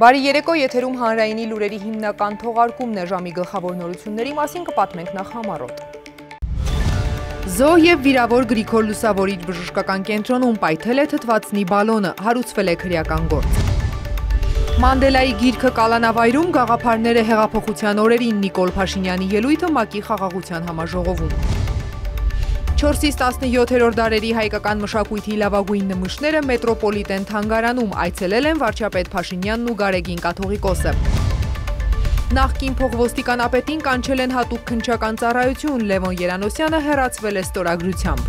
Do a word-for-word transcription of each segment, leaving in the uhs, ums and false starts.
Բարի երեկո, եթերում հանրայինի լուրերի հիմնական թողարկումն է, ժամի գլխավոր նորությունների մասին կպատմենք նախ համառոտ։ Զոհ և վիրավոր Գրիգոր Լուսավորիչ բժշկական կենտրոնում պայթել է թթվածնի բալոնը, հարուցվել է քրեական գործ։ Մանդելայի գիրքը կալանավայրում գաղափարները հեղափոխության օրերին Նիկոլ Փաշինյանի ելույթը ՄԱԿ-ի խաղաղության համաժողովում։ չորսից տասնյոթերորդ դարերի հայկական մշակույթի լավագույն նմուշները մետրոպոլիտեն թանգարանում այցելել են վարչապետ Փաշինյանն ու Գարեգին կաթողիկոսը։ Նախկին փոխոստիկանապետին կանչել են հատուկ քննչական ծառայություն, Լևոն Երանոսյանը հեռացվել է ստորագրությամբ։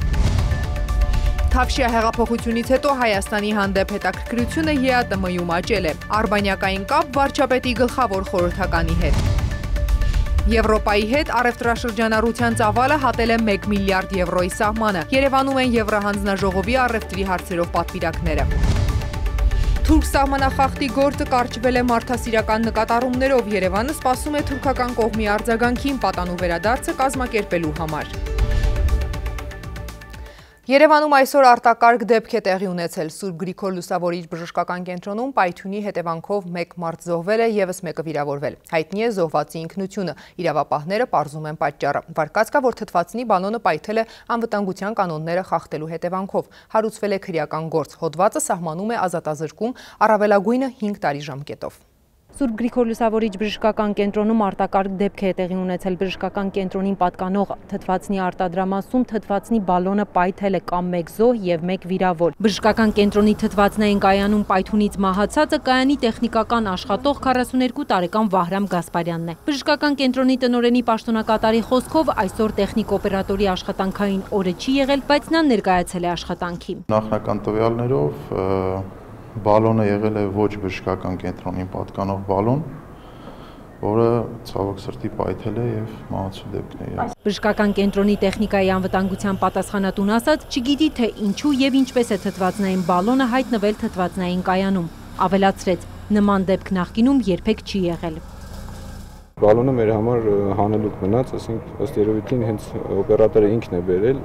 Թավշյա հեղափոխությունից հետո Հայաստանի հանդեպ հետաքրքրությունը ԵԱՏՄ-ում աճել է, արբանյակային կապ վարչապետի գլխավոր խորհրդականի հետ։ Եվրոպայի հետ առևտրաշրջանառության ծավալը հատել է մեկ միլիարդ եվրոյի սահմանը, Երևանում են Եվրահանձնաժողովի առևտրի հարցերով պատվիրակները։ Թուրք սահմանախախտի գործը կարճվել է մարդասիրական նկատառումներով, Երևանը սպասում է թուրքական կողմի արձագանքին պատանու վերադարձը կազմակերպելու համար։ Երևանում այսօր արտակարգ դեպք է տեղի ունեցել Սուրբ Գրիգոր Լուսավորիչ բժշկական կենտրոնում պայթյունի հետևանքով մեկ մարդ զոհվել է, ևս մեկը վիրավորվել։ Հայտնի է զոհվածի ինքնությունը, իրավապահները պարզում են պատճառը։ Վարկած կա, որ թթվածնի բալոնը պայթել է անվտանգության կանոնները խախտելու հետևանքով, հարուցվել է քրեական գործ, հոդվածը սահմանում է ազատազրկում առավելագույնը հինգ տարի ժամկետով։ Սուրբ Գրիգոր Լուսավորիչ բժշկական կենտրոնում արտակարգ դեպք է տեղի ունեցել բժշկական կենտրոնին պատկանող թթվածնի արտադրամասում թթվածնի բալոնը պայթել է կամ մեկ զոհ եւ մեկ վիրավոր։ Բժշկական կենտրոնի թթվածնային կայանում պայթյունից մահացածը կայանի տեխնիկական աշխատող քառասուներկու տարեկան Վահրամ Գասպարյանն է։ Բժշկական կենտրոնի տնօրենի պաշտոնակատարի խոսքով այսօր տեխնիկ օպերատորի աշխատանքային օրը չի եղել, բայց նա ներկայացել է աշխատանքի։ Նախնական տվյալներով բալոնը եղել է ոչ բժշկական կենտրոնին պատկանող բալոն, որը ցավոք սրտի պայթել է եւ մահացու դեպքն է։ Բժշկական կենտրոնի տեխնիկայի անվտանգության պատասխանատուն ասաց, չգիտի թե ինչու եւ ինչպես է թթվածնային բալոնը հայտնվել թթվածնային կայանում։ Ավելացրեց, նման դեպք նախկինում երբեք չի եղել։ Բալոնը մեր համար հանելուկ մնաց, ասենք ըստ երևույթին հենց օպերատորը ինքն է բերել,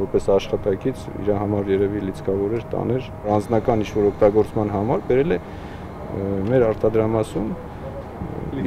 որպես աշխատակից իր համար երևի լիցքավոր էր տաներ, անձնական ինչ-որ օգտագործման համար բերել է մեր արտադրամասում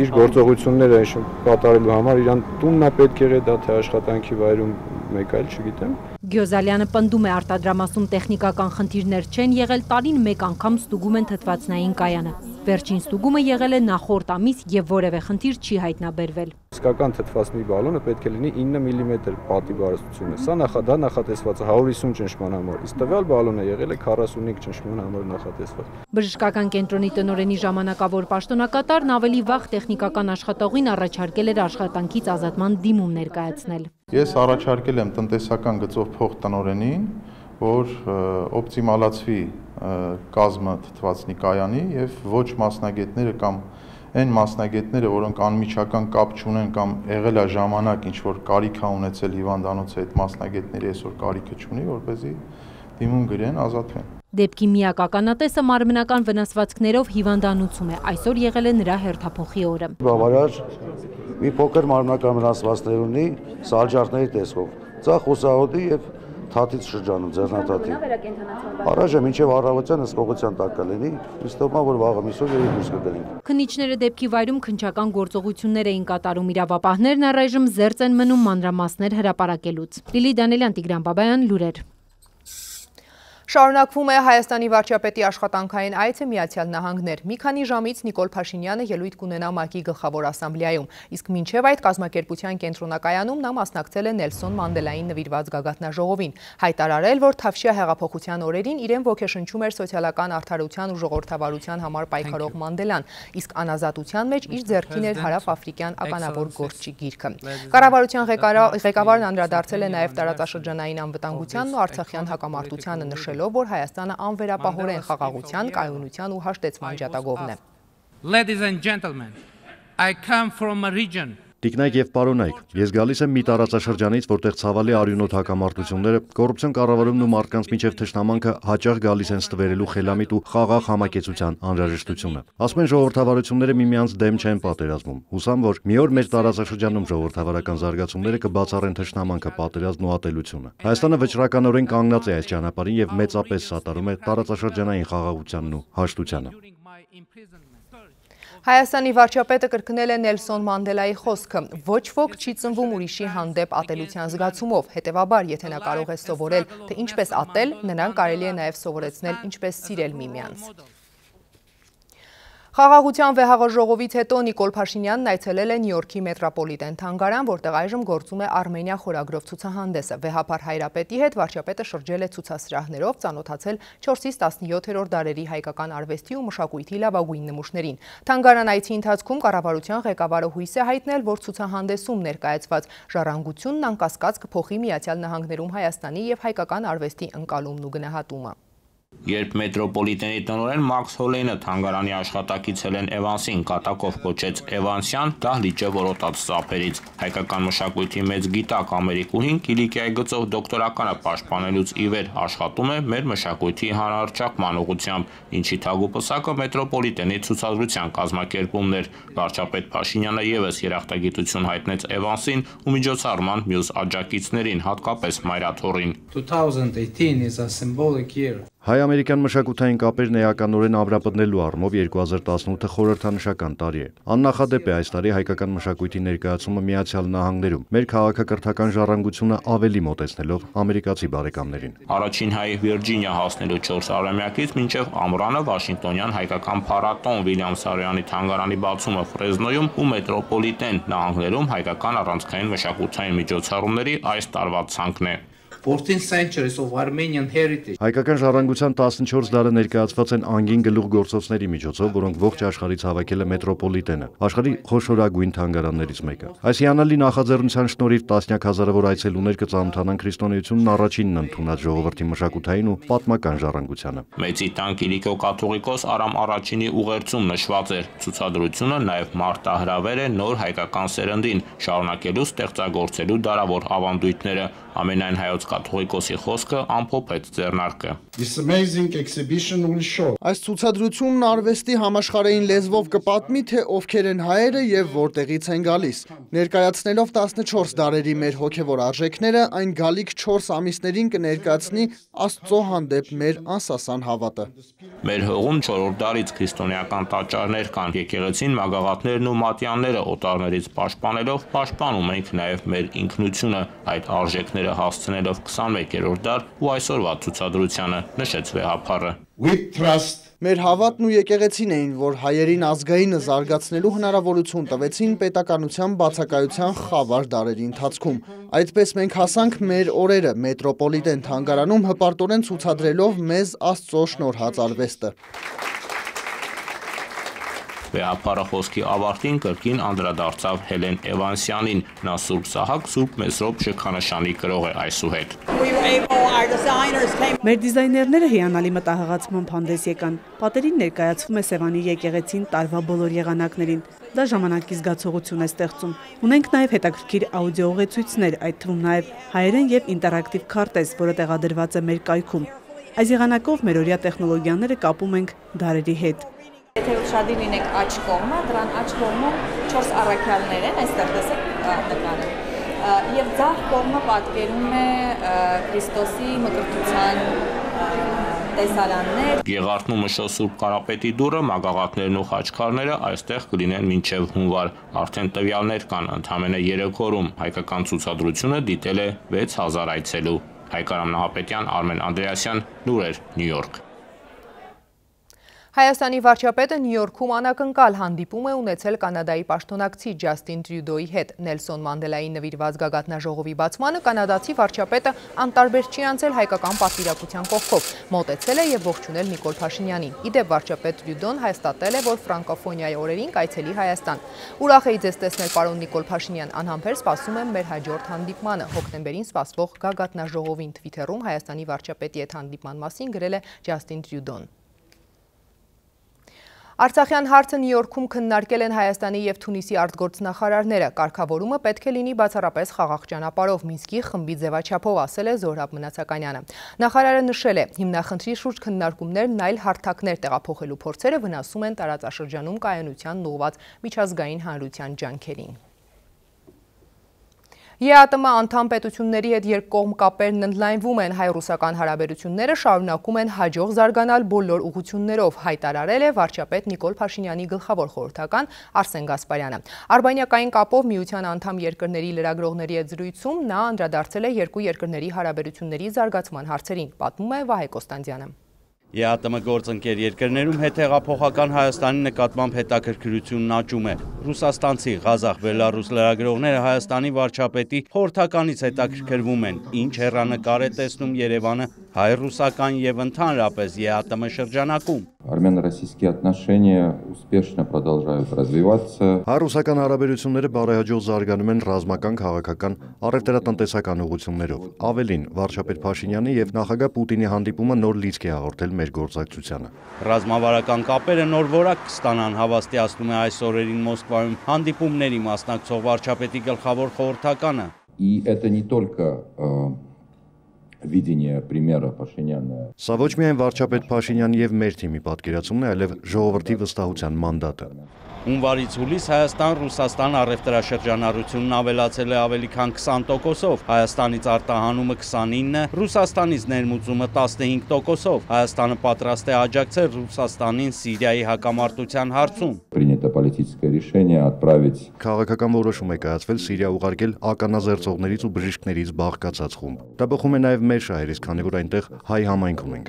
իր գործողությունները կատարելու համար, իրան տունն է պետք եղել, դա թե աշխատանքի վայրում մեկ այլ չգիտեմ։ Գյոզալյանը պնդում է արտադրամասում տեխնիկական խնդիրներ չեն եղել, տարին մեկ անգամ ստուգում են թթվածնային կայանը։ Վերջին ստուգումը եղել է նախորդ ամիս եւ որևէ խնդիր չի հայտնաբերվել։ Իսկական թթվածնի բալոնը պետք է լինի ինը միլիմետր պատի բարստությունը։ Սա նախադա նախատեսված է հարյուր հիսուն ճնշման համար, իսկ տվյալ բալոնը եղել է քառասունհինգ ճնշման համար նախատեսված։ Բժշկական կենտրոնի տնօրենի ժամանակավոր պաշտոնակատարն ավելի վաղ տեխնիկական աշխատողին առաջարկել էր աշխատանքից ազատման դիմում ներկայացնել։ Ես առաջարկել եմ տնտեսական գծով փող տնօրենին, որ օպտիմալացվի կազմը թթվածնի կայանի եւ ոչ մասնագետները կամ այն մասնագետները, որոնք անմիջական կապ չունեն կամ եղել է ժամանակ ինչ որ կարիք է ունեցել հիվանդանոցը, այդ մասնագետների այսօր կարիքը չունի, որպեսզի դիմում գրեն, ազատվեն։ Դեպքի միակ ականատեսը մարմնական վնասվածքներով հիվանդանոցում է, այսօր եղել է նրա հերթափոխի օրը։ Բավարար մի փոքր մարմնական վնասվածքներ ունի սալջարդների տեսքով, ծախ ուսահոդի եւ թաթից շրջանում ձեռնաթաթի։ Առայժմ մինչև առավոտյան հսկողության տակ կլինի, իստոմա որ վաղը միսով եւ դուրս կգնի։ Քննիչները դեպքի վայրում քննչական գործողություններ էին կատարում, իրավապահներն առայժմ զերծ են մնում մանրամասներ հրապարակելուց։ Լիլի Դանելյան, Տիգրան Բաբայան, լուրեր։ Շարունակվում է Հայաստանի վարչապետի աշխատանքային այցը Միացյալ Նահանգներ։ Մի քանի ժամից Նիկոլ Փաշինյանը ելույթ կունենա ՄԱԿ-ի գլխավոր ասամբլեայում, իսկ մինչև այդ կազմակերպության կենտրոնակայանում նա մասնակցել է Նելսոն Մանդելային նվիրված գագաթնաժողովին, հայտարարել, որ Թավշյա հեղափոխության օրերին իրեն ոգեշնչում էր սոցիալական արդարության ու ժողովրդավարության համար պայքարող Մանդելան, իսկ անազատության մեջ իր ձեռքին էր հարավ-աֆրիկյան ականավոր գործչի գիրքը։ Կառավարության ղեկավարն անդրադարձել է նաև տարածաշրջանային անվտանգությանն ու արցախյան հակամարտությանը, նշելով, որ Հայաստանը անվերապահորեն խաղաղության, կայունության ու հաշտեցման ջատագովն է։ Ladies and gentlemen, I come from a region Տիկնայք եւ պարոնայք, ես գալիս եմ մի տարածաշրջանից, որտեղ ցավալի արյունոտ հակամարտությունները, կոռուպցիոն կառավարումն ու մարդկանց միջև թշնամանքը հաճախ գալիս են ստվերելու խելամիտ ու խաղաղ համակեցության անհրաժեշտությունը։ Ասում են ժողովրդավարությունները միմյանց դեմ չեն պատերազմում։ Հուսամ, որ մի օր մեր տարածաշրջանում ժողովրդավարական զարգացումները կբացառեն թշնամանքը, պատերազմն ու ատելությունը։ Հայաստանը վճռականորեն կանգնած է այս ճանապարհին եւ մեծապես սատարում է տարածաշրջանային խաղաղությանն ու հաշտությանը։ Հայաստանի վարչապետը կրկնել է Նելսոն Մանդելայի խոսքը. ոչ ոք չի ծնվում ուրիշի հանդեպ ատելության զգացումով, հետևաբար, եթե նա կարող է սովորել, թե ինչպես ատել, նրան կարելի է նաև սովորեցնել ինչպես սիրել միմյանց։ Խաղաղության վեհաղոր ժողովից հետո Նիկոլ Փաշինյանն այցելել է Նյու Յորքի մետրոպոլիտեն թանգարան, որտեղ այժմ գործում է Արմենիա խորագրով ցուցահանդեսը։ Վեհափար Հայրապետի հետ վարչապետը շրջել է ցուցասրահներով, ծանոթացել չորսից տասնյոթերորդ դարերի հայկական արվեստի ու մշակույթի լավագույն նմուշներին։ Թանգարան այցի ընթացքում կառավարության ղեկավարը հույս է հայտնել, որ ցուցահանդեսում ներկայացված ժառանգությունն անկասկած կփոխի Միացյալ Նահանգներում Հայաստանի եւ հայկական արվեստի ընկալումն ու գնահատումը։ Երբ մետրոպոլիտենի տնօրեն Մաքս Հոլեյնը թանգարանի աշխատակից Հելեն Էվանսին կատակով կոչեց Էվանսյան, դահլիճը որոտաց ծափերից։ Հայկական մշակույթի մեծ գիտակ Ամերիկուհին Կիլիկիայի գծով դոկտորականը պաշտպանելուց ի վեր աշխատում է մեր մշակույթի հանրահռչակման ուղղությամբ, ինչի թագուպսակը մետրոպոլիտենի ցուցադրության կազմակերպումն էր։ Վարչապետ Փաշինյանը ևս երախտագիտություն հայտնեց Էվանսին ու միջոցառման մյուս աջակիցներին, հատկապես մայրաթոռին։ twenty eighteen is a symbolic year. Հայ-ամերիկյան մշակութային կապերն էականորեն ամրապնդելու առումով երկու հազար տասնութը խորհրդանշական տարի է։ Աննախադեպ է այս տարի հայկական մշակույթի ներկայացումը Միացյալ Նահանգներում, մեր քաղաքակրթական ժառանգությունը ավելի մոտեցնելով ամերիկացի բարեկամներին։ Առաջին հայ Վիրջինիա հասնելու չորս արամյակից մինչև ամռանը Վաշինգտոնյան հայկական փառատոն Վիլյամ Սարոյանի թանգարանի բացումը Ֆրեզնոյում ու մետրոպոլիտեն նահանգներում հայկական առանցքային մշակութային միջոցառումների այս տարվա ցանկն է։ fourteenth centuries of Armenian heritage. Հայկական ժառանգության տասնչորս դարը ներկայացված են անգին գլուխգործոցների միջոցով, որոնք ողջ աշխարհից հավաքել է մետրոպոլիտենը, աշխարհի խոշորագույն թանգարաններից մեկը։ Այս հիանալի նախաձեռնության շնորհիվ տասնյակ հազարավոր այցելուներ կծանոթանան քրիստոնեությունն առաջինն ընդունած ժողովրդի մշակութային ու պատմական ժառանգությանը։ Մեծի տան Կիլիկիո կաթողիկոս Արամ Առաջինի ուղերձում նշված էր. ցուցադրությունը նաև մարտահրավեր է նոր հայկական սերնդին, շարունակելու ստեղծագործելու դարավոր ավանդույթները։ Ամենայն հայոց կաթողիկոսի խոսքը ամփոփեց ձեռնարկը։ Այս ցուցադրությունն արվեստի համաշխարհային լեզվով կպատմի, թե ովքեր են հայերը եւ որտեղից են գալիս։ Ներկայացնելով տասնչորս դարերի մեր հոգեվոր արժեքները, այն գալիք չորս ամիսներին կներկայացնի Աստծո հանդեպ մեր անսասան հավատը։ Մեր հողում չորրորդ դարից քրիստոնեական տաճարներ կան, եկեղեցին, մագաղաթներն ու մատյանները օտարներից պաշտպանելով պաշտպանում ենք նաև մեր ինքնությունը, այդ արժեքները հասցնելով քսանմեկերորդ դար ու այսօրվա ցուցադրությանը, նշեց վեհափառը։ Մեր հավատն ու եկեղեցին էին, որ հայերին ազգայինը զարգացնելու հնարավորություն տվեցին պետականության բացակայության խավար դարերի ընթացքում։ Այդպես մենք հասանք մեր օրերը մետրոպոլիտեն թանգարանում հպարտորեն ցուցադրելով մեզ Աստծո շնորհած արվեստը։ Վեհափառը խոսքի ավարտին կրկին անդրադարձավ Հելեն Էվանսյանին, նա Սուրբ Սահակ, Սուրբ Մեսրոպ շքանշանի կրող է այսուհետ։ Մեր դիզայներները հիանալի մտահղացմամբ հանդես եկան։ Պատերին ներկայացվում է Սևանի եկեղեցին տարվա բոլոր եղանակներին։ Դա ժամանակի զգացողություն է ստեղծում։ Ունենք նաև հետաքրքիր աուդիո ուղեցույցներ, այդ թվում նաև հայերեն եւ ինտերակտիվ քարտեզ, որը տեղադրված է մեր կայքում։ Այս եղանակով մեր օրյա տեխնոլոգիաները կապում ենք դարերի հետ։ Եթե ուշադիր լինեք աջ կողմը, դրան աջ կողմում չորս առաքյալներ են, այստեղ տեսեք նկարը։ Եվ ձախ կողմը պատկերում է Քրիստոսի մկրտության տեսարաններ։ Գեղարդն ու Մշո Սուրբ Կարապետի դուռը, մագաղաթներն ու խաչքարները այստեղ կլինեն մինչև հունվար։ Արդեն տվյալներ կան, ընդամենը երեք օրում հայկական ցուցադրությունը դիտել է վեց հազար այցելու։ Հայկարամ Նահապետյան, Արմեն Անդրեասյան, լուրեր, Նյու Յորք։ Հայաստանի վարչապետը Նյու Յորքում անակնկալ հանդիպում է ունեցել կանադայի պաշտոնակցի Ջաստին Տրյուդոյի հետ։ Նելսոն Մանդելայի նվիրված գագաթնաժողովի բացմանը կանադացի վարչապետը անտարբեր չի անցել հայկական պատվիրակության կողքով, մոտեցել է եւ ողջունել Նիկոլ Փաշինյանին։ Իդեպ վարչապետ Տրյուդոն հաստատել է, որ ֆրանկոֆոնիայի օրերին կայցելի Հայաստան։ Ուրախ էի ձեզ տեսնել, պարոն Նիկոլ Փաշինյան, անհամբեր սպասում եմ մեր հաջորդ հանդիպմանը։ Հոկտեմբերին սպասվող գագաթնաժողովին Թվիթերում Հայաստանի վարչապետի հետ հանդիպման մասին գրել է Ջաստին Տրյուդոն։ Արցախյան հարցը Նյու Յորքում քննարկել են Հայաստանի և Թունիսի արտգործնախարարները։ Կարգավորումը պետք է լինի բացառապես խաղաղ ճանապարհով, Մինսկի խմբի ձևաչափով, ասել է Զոհրաբ Մնացականյանը։ Նախարարը նշել է, հիմնախնդրի շուրջ քննարկումներն այլ հարթակներ տեղափոխելու փորձերը վնասում են տարածաշրջանում կայունությանն ուղղված միջազգային հանրության ջանքերին։ Է Ա Տ Մ անդամ պետությունների հետ երկկողմ կապերն ընդլայնվում են, հայ-ռուսական հարաբերությունները շարունակում են հաջող զարգանալ բոլոր ուղղություններով, հայտարարել է վարչապետ Նիկոլ Փաշինյանի գլխավոր խորհրդական Արսեն Գասպարյանը։ Արբանյակային կապով միության անդամ երկրների լրագրողների հետ զրույցում նա անդրադարձել է երկու երկրների հարաբերությունների զարգացման հարցերին, պատմում է Վահե Կոստանդյանը։ Է Ա Տ Մ գործընկեր երկրներում հետհեղափոխական Հայաստանի նկատմամբ հետաքրքրությունն աճում է։ Ռուսաստանցի, ղազախ, բելառուս լրագրողները Հայաստանի վարչապետի խորհրդականից հետաքրքրվում են, ինչ հեռանկար է տեսնում Երևանը հայ-ռուսական եւ ընդհանրապես Է Ա Տ Մ շրջանակում։ Армяно-российские отношения успешно продолжают развиваться. Հայ-ռուսական հարաբերությունները բարեհաջող զարգանում են ռազմական, քաղաքական, առևտրատնտեսական ուղղություններով։ Ավելին, վարչապետ Փաշինյանի եւ նախագահ Պուտինի հանդիպումը նոր լիցք է հաղորդել մեր գործակցությանը։ Ռազմավարական կապերը նոր որակ կստանան, հավաստիացնում է այս օրերին Մոսկվայում հանդիպումների մասնակցող վարչապետի գլխավոր խորհրդականը։ И это не только видение примера Փաշինյանը։ Սա ոչ միայն վարչապետ Փաշինյանի եւ մեր թիմի պատկերացումն է, այլև ժողովրդի վստահության մանդատը։ Հունվարից հուլիս Հայաստան-Ռուսաստան առևտրաշրջանառությունն ավելացել է ավելի քան քսան տոկոսով, Հայաստանից արտահանումը քսանինը, Ռուսաստանից ներմուծումը տասնհինգ տոկոսով։ Հայաստանը պատրաստ է աջակցել Ռուսաստանին Սիրիայի հակամարտության հարցում։ Принято политическое решение отправить Քաղաքական որոշում է կայացվել Սիրիա ուղարկել ականազերծողներից ու բժիշկներից բաղկացած խումբ։ Դա բխում է նաև մեր շահերից, քանի որ այնտեղ հայ համայնք ունենք։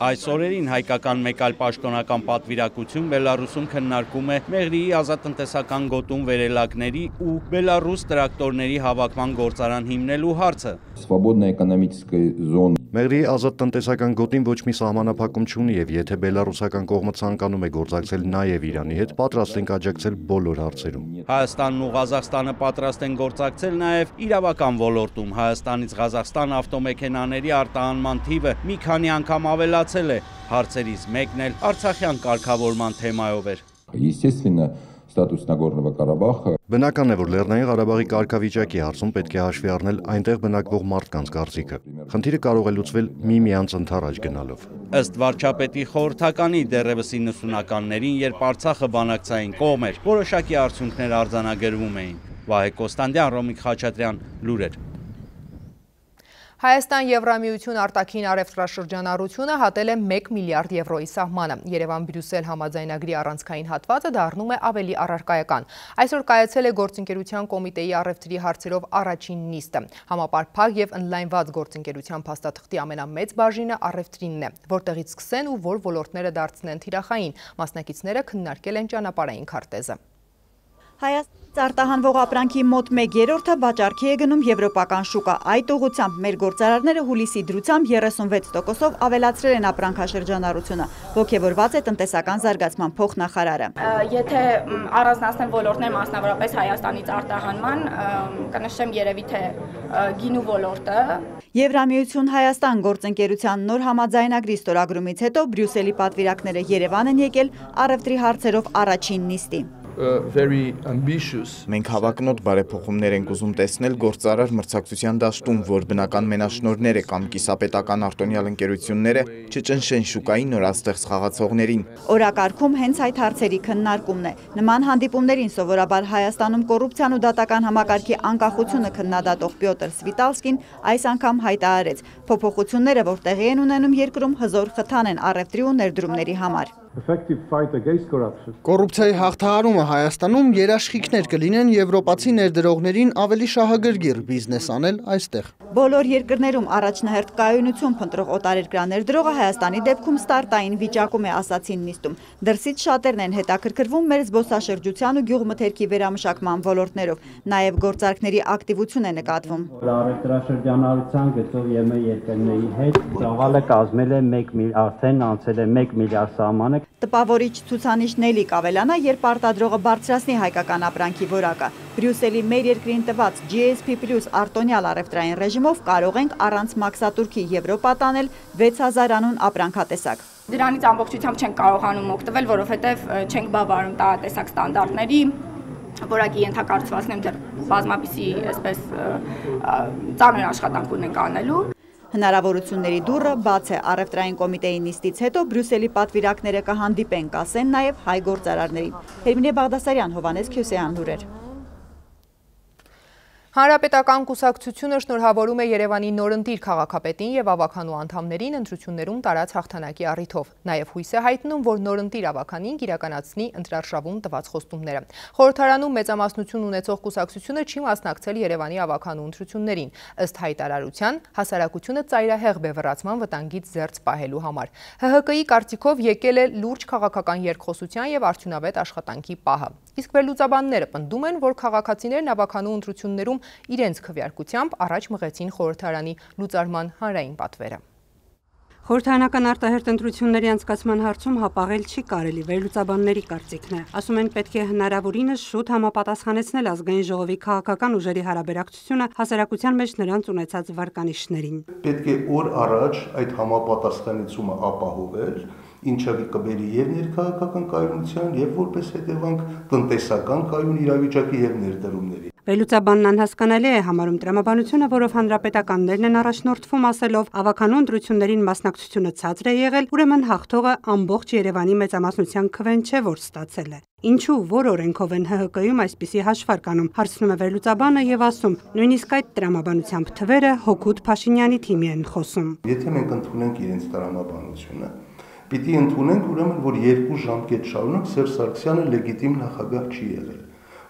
Այս օրերին հայկական մեկ այլ պաշտոնական պատվիրակություն Բելառուսում քննարկում է Մեղրիի ազատտնտեսական գոտում վերելակների ու Բելառուս տրակտորների հավաքման գործարան հիմնելու հարցը։ Свободной экономической зоны Մեղրիի ազատտնտեսական գոտին ոչ մի սահմանափակում չունի եւ եթե բելառուսական կողմը ցանկանում է գործակցել նաեւ Իրանի հետ, պատրաստ ենք աջակցել բոլոր հարցերում։ Հայաստանն ու Ղազախստանը պատրաստ են գործակցել նաեւ իրավական ոլորտում։ Հայաստանից Ղազախստան ավտոմեքենաների արտահանման թիվը մի քանի անգամ ավելացել է։ Հարցերից մեկն էլ Արցախյան կարգավորման թեմայով էր։ Естественно, статус Нагорного Карабаха Բնական է, որ Լեռնային Ղարաբաղի կարգավիճակի հարցում պետք է հաշվի առնել այնտեղ բնակվող մարդկանց կարծիքը։ Խնդիրը կարող է լուծվել միմյանց ընդառաջ գնալով։ Ըստ վարչապետի խորհրդականի դեռևս իննսունականներին, երբ Արցախը բանակցային կողմ էր, որոշակի արդյունքներ արձանագրվում էին։ Վահե Կոստանդյան, Ռոմիկ Խաչատրյան, լուրեր։ Հայաստան-Եվրամիություն արտաքին առևտրաշրջանառությունը հատել է մեկ միլիարդ եվրոյի սահմանը։ Երևան-Բրյուսել համաձայնագրի առանցքային հատվածը դառնում է ավելի առարկայական։ Այսօր կայացել է գործընկերության կոմիտեի առևտրի հարցերով առաջին նիստը։ Համապարփակ եւ ընդլայնված գործընկերության փաստաթղթի ամենամեծ բաժինը առևտրինն է, որտեղից սկսեն ու որ ոլորտները դարձնեն թիրախային։ Մասնակիցները քննարկել են ճանապարհային քարտեզը։ Հայաստանից արտահանվող ապրանքի մոտ մեկ երրորդը վաճառքի է գնում եվրոպական շուկա։ Այդ ուղղությամբ մեր գործարարները հուլիսի դրությամբ երեսունվեց տոկոսով ավելացրել են ապրանքաշրջանառությունը, ոգևորված է տնտեսական զարգացման փոխնախարարը։ Եթե առանձնացնել ոլորտներ, մասնավորապես Հայաստանից արտահանման, կնշեմ երևի թե գինու ոլորտը։ Եվրամիություն Հայաստան գործընկերության նոր համաձայնագրի ստորագրումից հետո Բրյուսելի պատվիրակները Երևան են եկել առևտրի հարցերով առաջին նիստի։ Մենք հավակնոտ բարեփոխումներ ենք ուզում տեսնել գործարար մրցակցության դաշտում, որ բնական մենաշնորհները կամ կիսապետական արտոնյալ ընկերությունները չճնշեն շուկայի նորաստեղծ խաղացողներին։ Օրակարգում հենց այդ հարցերի քննարկումն է։ Նման հանդիպումներին սովորաբար Հայաստանում կոռուպցիան ու դատական համակարգի անկախությունը քննադատող Պյոտր Սվիտալսկին այս անգամ հայտարարեց, փոփոխությունները, որ տեղի են ունենում երկրում, հզոր խթան են առևտրի ու ներդրումների համար։ Կոռուպցիայի հաղթահարումը Հայաստանում երաշխիքներ կլինեն եվրոպացի ներդրողներին ավելի շահագրգիռ բիզնես անել այստեղ։ Բոլոր երկրներում առաջնահերթ կայունություն փնտրող օտարերկրյա ներդրողը Հայաստանի դեպքում ստարտային վիճակում է, ասացին նիստում։ Դրսից շատերն են հետաքրքրվում մեր զբոսաշրջության ու գյուղմթերքի վերամշակման ոլորտներով, նաև գործարքների ակտիվություն է նկատվում։ Առևտրաշրջանառության գծով եւ մեր երկրների հետ ծավալը կազմել է մեկ միլիարդ, արդեն անցել է մեկ միլիարդ սահմանը։ Տպավորիչ ցուցանիշն էլի կավելանա, երբ արտադրողը բարձրացնի հայկական ապրանքի որակը։ Բրյուսելի մեր երկրին տված G S P plus արտոնյալ առևտրային ռեժիմով կարող ենք առանց մաքսատուրքի Եվրոպա տանել վեց հազար անուն ապրանքատեսակ։ Դրանից ամբողջությամբ չենք կարողանում օգտվել, որովհետև չենք բավարարում տարատեսակ ստանդարտների, որակի ենթակառուցվածքն դեռ բազմապիսի այսպես ծանր աշխատանք ունենք անելու։ Հնարավորությունների դուռը բաց է առևտրային կոմիտեի նիստից հետո Բրյուսելի պատվիրակները կհանդիպեն, կասեն նաև հայ գործարարներին։ Հերմինե Բաղդասարյան, Հովանես Քյոսեյան, լուրեր։ Հանրապետական կուսակցությունը շնորհավորում է Երևանի նորընտիր քաղաքապետին եւ ավականու անդամներին ընտրություններում տարած հաղթանակի առիթով։ Նաեւ հույս է հայտնում, որ նորընտիր ավականին կիրականացնի ընտրարշավում տված խոստումները։ Խորհրդարանում մեծամասնություն ունեցող կուսակցությունը չի մասնակցել Երևանի ավականու ընտրություններին։ Ըստ հայտարարության, հասարակությունը ծայրահեղ բևեռացման վտանգից զերծ պահելու համար։ ՀՀԿ-ի կարծիքով եկել է լուրջ քաղաքական երկխոսության եւ արդյունավետ աշխատանքի պահը։ Իսկ վերլուծաբանները պնդում են, որ քաղաքացիներն ավականու ընտրություններում իրենց քվեարկությամբ առաջ մղեցին խորհրդարանի լուծարման հանրային պատվերը։ Խորհրդարանական արտահերթ ընտրությունների անցկացման հարցում հապաղել չի կարելի, վերլուծաբանների կարծիքն է։ Ասում են, պետք է հնարավորինս շուտ համապատասխանեցնել ազգային ժողովի քաղաքական ուժերի հարաբերակցությունը հասարակության մեջ նրանց ունեցած վարկանիշներին։ Պետք է օր առաջ այդ համապատասխանեցումը ապահովել, ինչը կբերի եւ ներքաղաքական կայունության եւ որպես հետևանք տնտեսական կայուն իրավիճակի եւ ներդրումների։ Վերլուծաբանն անհասկանալի է համարում տրամաբանությունը, որով հանրապետականներն են առաջնորդվում ասելով ավականու ընտրություններին մասնակցությունը ցածր է եղել, ուրեմն հաղթողը ամբողջ Երևանի մեծամասնության քվեն չէ, որ ստացել է։ Ինչու որ օրենքով են ՀՀԿ-ում այսպիսի հաշվարկ անում, հարցնում է վերլուծաբանը եւ ասում, նույնիսկ այդ տրամաբանությամբ թվերը Հոկուտ Փաշինյանի թիմի են խոսում։ Եթե մենք ընդունենք իրենց տրամաբանությունը, պիտի ընդունենք ուրեմն, որ երկու ժամկետ շարունակ Սերժ Սարգսյանը լեգիտիմ նախագահ չի եղել,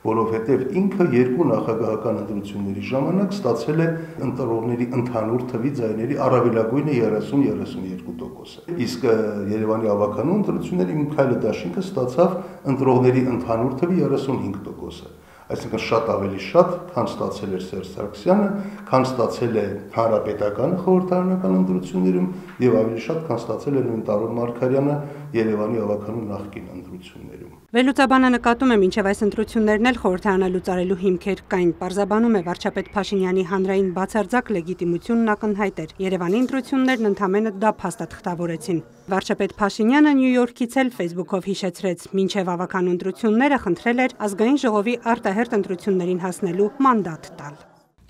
որովհետև ինքը երկու նախագահական ընտրությունների ժամանակ ստացել է ընտրողների ընդհանուր թվի ձայների առավելագույնը երեսուն երեսունյոթ տոկոսը։ Իսկ Երևանի ավականու ընտրությունների Միքայել Դաշինքը ստացավ ընտրողների ընդհանուր թվի երեսունհինգ տոկոսը։ Այսինքն շատ ավելի շատ, քան ստացել էր Սերժ Սարգսյանը, քան ստացել է հանրապետական խորհրդարանական ընտրություններում եւ ավելի շատ, քան ստացել է նույն Տարոն Մարգարյանը Երևանի ավականու նախկին ընտրություններում։ Վերլուծաբանը նկատում է, մինչև այս ընտրություններն էլ խորհրդարանը լուծարելու հիմքեր կային, պարզաբանում է վարչապետ Փաշինյանի հանրային բացարձակ լեգիտիմությունն ակնհայտ էր։ Երևանի ընտրություններն ընդամենը դա փաստաթղթավորեցին։ Վարչապետ Փաշինյանը Նյու Յորքից էլ Facebook-ով հիշեցրեց, մինչև ավականու ընտրությունները խնդրել էր ազգային ժողովի արտահերթ ընտրություններին հասնելու մանդատ տալ։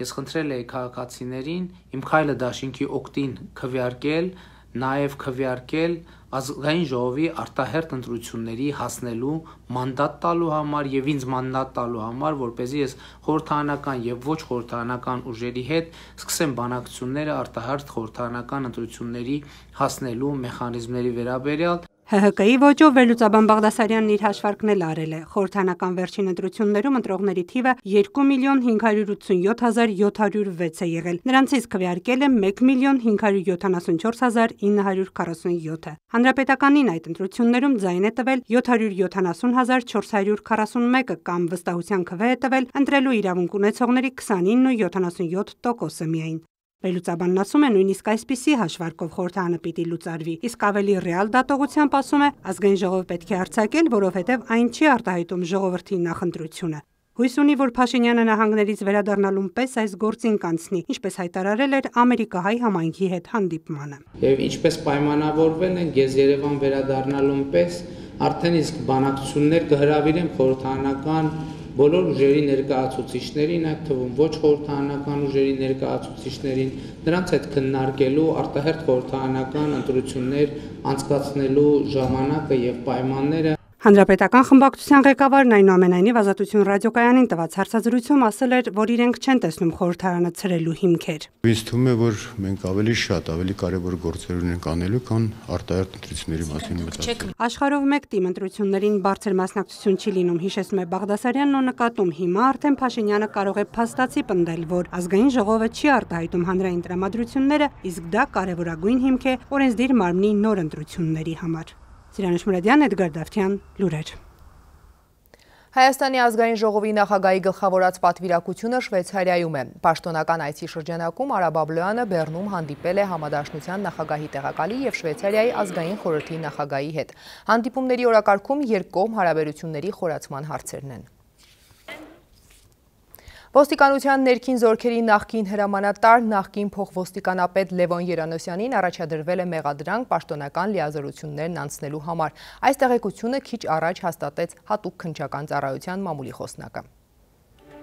Ես խնդրել էի քաղաքացիներին իմ Միքայել Դաշինքի օգտին քվեարկել, նաև քվեարկել ազգային ժողովի արտահերթ ընտրությունների հասնելու մանդատ տալու համար եւ ինձ մանդատ տալու համար, որպեսզի ես խորհրդարանական եւ ոչ խորհրդարանական ուժերի հետ սկսեմ բանակցությունները արտահերթ խորհրդարանական ընտրությունների հասնելու մեխանիզմների վերաբերյալ։ ՀՀԿ-ի ոճով վերլուծաբան Բաղդասարյանն իր հաշվարկն էլ արել է։ Խորհրդարանական վերջին ընտրություններում ընտրողների թիվը երկու միլիոն հինգ հարյուր ութսունյոթ հազար յոթ հարյուր վեց է եղել։ Նրանցից քվեարկել է մեկ միլիոն հինգ հարյուր յոթանասունչորս հազար ինը հարյուր քառասունյոթը։ Հանրապետականին այդ ընտրություններում ձայն է տվել յոթ հարյուր յոթանասուն հազար չորս հարյուր քառասունմեկը կամ վստահության քվե է տվել ընտրելու իրավունք ունեցողների քսանինը ու յոթանասունյոթ տոկոսը միայն։ Վերլուծաբանն ասում է, նույնիսկ այսպիսի հաշվարկով խորհրդարանը պիտի լուծարվի, իսկ ավելի ռեալ դատողությամբ ասում է, ազգային ժողով պետք է արձակել, որովհետև այն չի արտահայտում ժողովրդի նախընտրությունը։ Հույս ունի, որ Փաշինյանը նահանգներից վերադառնալուն պես այս գործին կանցնի, ինչպես հայտարարել էր ամերիկահայ համայնքի հետ հանդիպմանը։ Եվ ինչպես պայմանավորվել են, ես Երևան վերադառնալուն պես արդեն իսկ բանակցություններ կհրավիրեմ խորհրդարանական բոլոր ուժերի ներկայացուցիչներին, այդ թվում ոչ խորհրդարանական ուժերի ներկայացուցիչներին, նրանց հետ քննարկելու արտահերթ խորհրդարանական ընտրություններ անցկացնելու ժամանակը եւ պայմանները։ Հանրապետական խմբակցության ղեկավարն այնուամենայնիվ Ազատություն ռադիոկայանին տված հարցազրույցում ասել էր, որ իրենք չեն տեսնում խորհրդարանը ցրելու հիմքեր։ Ինձ թվում է, որ մենք ավելի շատ, ավելի կարևոր գործեր ունենք անելու, քան արտահերթ ընտրությունների մասին մտածել։ Աշխարհով մեկ տիմ ընտրություններին բարձր մասնակցություն չի լինում, հիշեցնում է Բաղդասարյանն ու նկատում, հիմա արդեն Փաշինյանը կարող է փաստացի պնդել, որ ազգային ժողովը չի արտահայտում հանրային տրամադրությունները, իսկ դա կարևորագույն հիմք է օրենսդիր մարմնի նոր ընտրությունների համար։ Սիրանուշ Մուրադյան, Էդգար Դավթյան, լուրեր։ Հայաստանի ազգային ժողովի նախագահի գլխավորած պատվիրակությունը Շվեյցարիայում է։ Պաշտոնական այցի շրջանակում Արա Բաբլոյանը Բեռնում հանդիպել է Համադաշնության նախագահի տեղակալի եւ Շվեյցարիայի ազգային խորհրդի նախագահի հետ։ Հանդիպումների օրակարգում երկկողմ հարաբերությունների խորացման հարցերն են։ Ոստիկանության ներքին զորքերի նախկին հրամանատար, նախկին փոխոստիկանապետ Լևոն Երանոսյանին առաջադրվել է մեղադրանք պաշտոնական լիազորություններն անցնելու համար։ Այս տեղեկությունը քիչ առաջ հաստատեց հատուկ քննչական ծառայության մամուլի խոսնակը։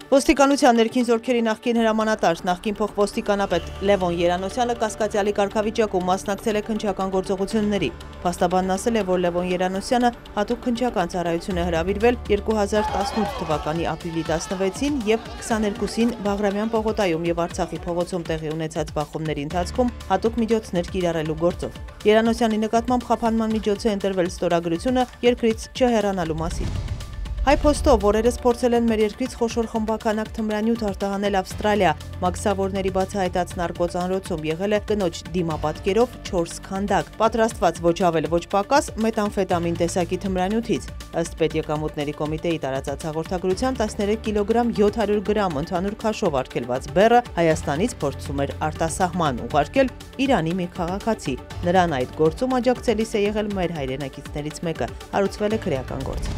Ոստիկանության ներքին զորքերի նախկին հրամանատար, նախկին փոխոստիկանապետ Լևոն Երանոսյանը կասկածյալի կարգավիճակում մասնակցել է քննչական գործողությունների։ Փաստաբանն ասել է, որ Լևոն Երանոսյանը հատուկ քննչական ծառայություն է հրավիրվել երկու հազար տասնութ թվականի ապրիլի տասնվեցին եւ քսաներկուսին Բաղրամյան պողոտայում եւ Արցախի փողոցում տեղի ունեցած բախումների ընթացքում հատուկ միջոցներ կիրառելու գործով։ Երանոսյանի նկատմամբ խափանման միջոց է ընտրվել ստորագրությունը երկրից չհեռանալու մասին։ Հայ փոստով օրերս փորձել են մեր երկրից խոշոր խմբականակ թմրանյութ արտահանել Ավստրալիա, մաքսավորների բացահայտած նարկոծանրոցում եղել է կնոջ դիմապատկերով չորս քանդակ, պատրաստված ոչ ավել ոչ պակաս մետամֆետամին տեսակի թմրանյութից։ Ըստ Պետեկամուտների կոմիտեի տարածած հաղորդագրության տասներեք կիլոգրամ յոթ հարյուր գրամ ընդհանուր քաշով արգելված բեռը Հայաստանից փորձում էր արտասահման ուղարկել Իրանի մի քաղաքացի։ Նրան այդ գործում աջակցելիս է եղել մեր հայրենակիցներից մեկը, հարուցվել է քրեական գործ։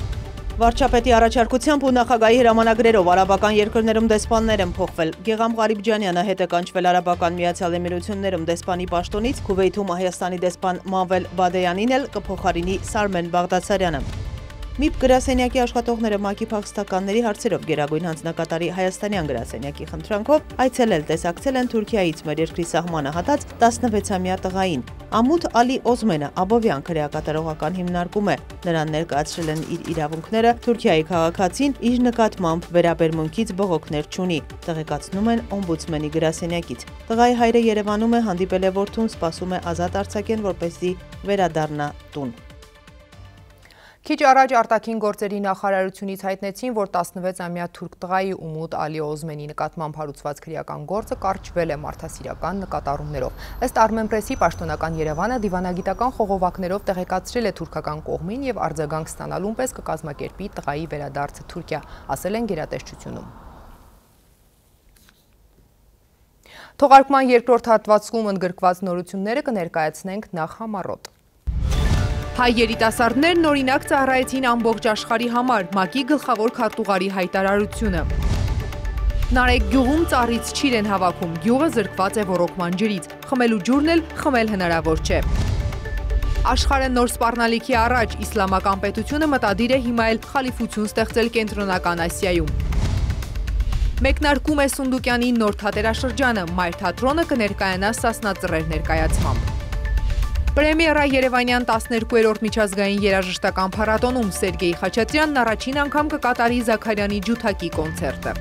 Վարչապետի առաջարկությամբ ու նախագահի հրամանագրերով արաբական երկրներում դեսպաններ են փոխվել։ Գեգամ Ղարիբջանյանը հետ է կանչվել Արաբական Միացյալ Էմիրություններում դեսպանի պաշտոնից, Քուվեյթում Հայաստանի դեսպան Մանվել Բադեյանին էլ կփոխարինի Սարմեն Բաղդասարյանը։ ՄԻՊ գրասենյակի աշխատողները ՄԱԿ-ի փախստականների հարցերով Գերագույն հանձնակատարի հայաստանյան գրասենյակի խնդրանքով այցելել տեսակցել են Թուրքիայից մեր երկրի սահմանը հատած տասնվեցամյա տղային։ Ամութ Ալի Օզմենը Աբովյան քրեակատարողական հիմնարկում է։ Նրան ներկայացրել են իր իրավունքները, Թուրքիայի քաղաքացին իր նկատմամբ վերաբերմունքից բողոքներ չունի, տեղեկացնում են օմբուդսմենի գրասենյակից։ Տղայի հայրը Երևանում է, հանդիպել է որդուն, սպասում է ազատ արձակեն, որպեսզի վերադառնա տուն։ Քիչ առաջ արտաքին գործերի նախարարությունից հայտնեցին, որ տասնվեցամյա թուրք տղայի Ումուդ Ալի Օզմենի նկատմամբ հարուցված քրեական գործը կարճվել է մարդասիրական նկատառումներով։ Ըստ Armenpress-ի պաշտոնական Երևանը դիվանագիտական խողովակներով տեղեկացրել է թուրքական կողմին եւ արձագանք ստանալուն պես կկազմակերպի տղայի վերադարձը Թուրքիա, ասել են գերատեսչությունում։ Թողարկման երկրորդ հատվածում ընդգրկված նորությունները կներկայացնենք նախ համառոտ։ Հայ երիտասարդներն օրինակ ծառայեցին ամբողջ աշխարհի համար, ՄԱԿ-ի գլխավոր քարտուղարի հայտարարությունը։ Նարեկ գյուղում ծառից չիր են հավաքում, գյուղը զրկված է ոռոգման ջրից, խմելու ջուրն էլ խմել հնարավոր չէ։ Աշխարհը նոր սպառնալիքի առաջ, իսլամական պետությունը մտադիր է հիմա էլ խալիֆություն ստեղծել Կենտրոնական Ասիայում։ Մեկնարկում է Սունդուկյանի նոր թատերաշրջանը, Մայր թատրոնը կներկայանա Սասնա Ծռեր ներկայացմամբ։ Պրեմիերա Երևանյան տասներկուերորդ միջազգային երաժշտական փառատոնում Սերգեյ Խաչատրյանն առաջին անգամ կկատարի Զաքարյանի ջութակի կոնցերտը։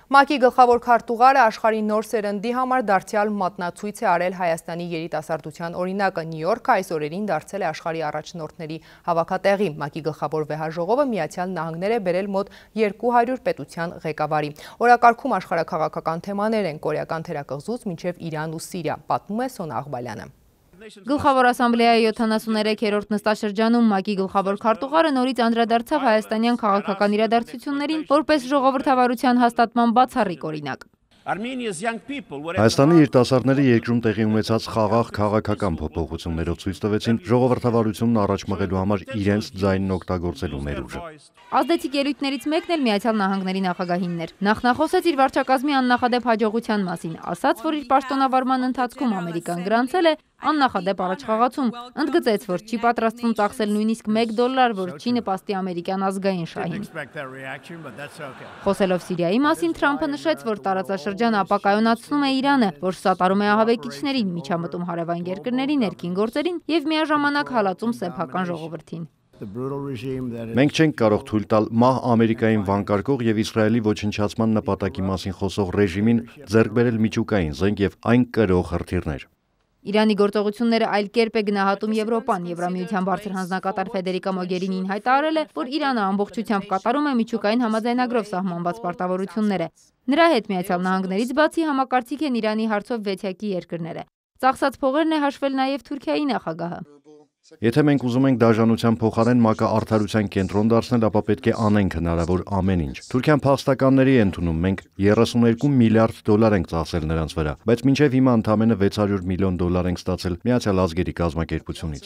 ՄԱԿ-ի գլխավոր քարտուղարը աշխարհի նոր սերնդի համար դարձյալ մատնացույց է արել Հայաստանի երիտասարդության օրինակը։ Նյու Յորքը այս օրերին դարձել է աշխարհի առաջնորդների հավաքատեղի։ ՄԱԿ-ի գլխավոր վեհաժողովը Միացյալ Նահանգներ է բերել մոտ երկու հարյուր պետության ղեկավարի։ Օրակարգում աշխարհաքաղաքական թեմաներ են կորեական թերակղզուց մինչև Իրան ու Սիրիա, պատմում է Սոնա Աղբալյանը։ Գլխավոր ասամբլեայի յոթանասուներեքերորդ նստաշրջանում ՄԱԿ-ի գլխավոր քարտուղարը նորից անդրադարձավ հայաստանյան քաղաքական իրադարձություններին որպես ժողովրդավարության հաստատման բացառիկ օրինակ։ Հայաստանի երիտասարդները երկրում տեղի ունեցած խաղաղ քաղաքական փոփոխություններով ցույց տվեցին ժողովրդավարությունն առաջ մղելու համար իրենց ձայնն օգտագործելու ներուժը։ Ազդեցիկ ելույթներից մեկն էլ Միացյալ Նահանգների նախագահինն էր։ Նախնախոսեց իր վարչակազմի աննախադեպ հաջողության մասին, ասաց, որ իր պաշտոնավարման ընթացքում Ամերիկան գրանցել է աննախադեպ առաջխաղացում, ընդգծեց, որ չի պատրաստվում ծախսել նույնիսկ մեկ դոլար, որ չի նպաստի ամերիկյան ազգային շահին։ Խոսելով Սիրիայի մասին, Թրամփը նշեց, որ տարածաշրջանը ապակայունացնում է Իրանը, որ սատարում է ահաբեկիչներին, միջամտում հարևան երկրների ներքին գործերին եւ միաժամանակ հալածում սեփական ժողովրդին։ Մենք չենք կարող թույլ տալ մահ Ամերիկային վանկարկող եւ Իսրայելի ոչնչացման նպատակի մասին խոսող ռեժիմին ձեռք բերել միջուկային զենք եւ այն կրող հրթիռներ։ Իրանի գործողությունները այլ կերպ է գնահատում Եվրոպան։ Եվրամիության բարձր հանձնակատար Ֆեդերիկա Մոգերինին հայտարարել է, որ Իրանը ամբողջությամբ կատարում է միջուկային համաձայնագրով սահմանված պարտավորությունները։ Նրա հետ Միացյալ Նահանգներից բացի համակարծիք են Իրանի հարցով վեցյակի երկրները։ Ծախսած փողերն է հաշվել նաև Թուրքիայի նախագահը։ Եթե մենք ուզում ենք դաժանության փոխարեն ՄԱԿ-ը արդարության կենտրոն դարձնել, ապա պետք է անենք հնարավոր ամեն ինչ։ Թուրքիան փախստականների է ընդունում, մենք երեսուներկու միլիարդ դոլար ենք ծախսել նրանց վրա, բայց մինչև հիմա ընդամենը վեց հարյուր միլիոն դոլար ենք ստացել Միացյալ Ազգերի կազմակերպությունից։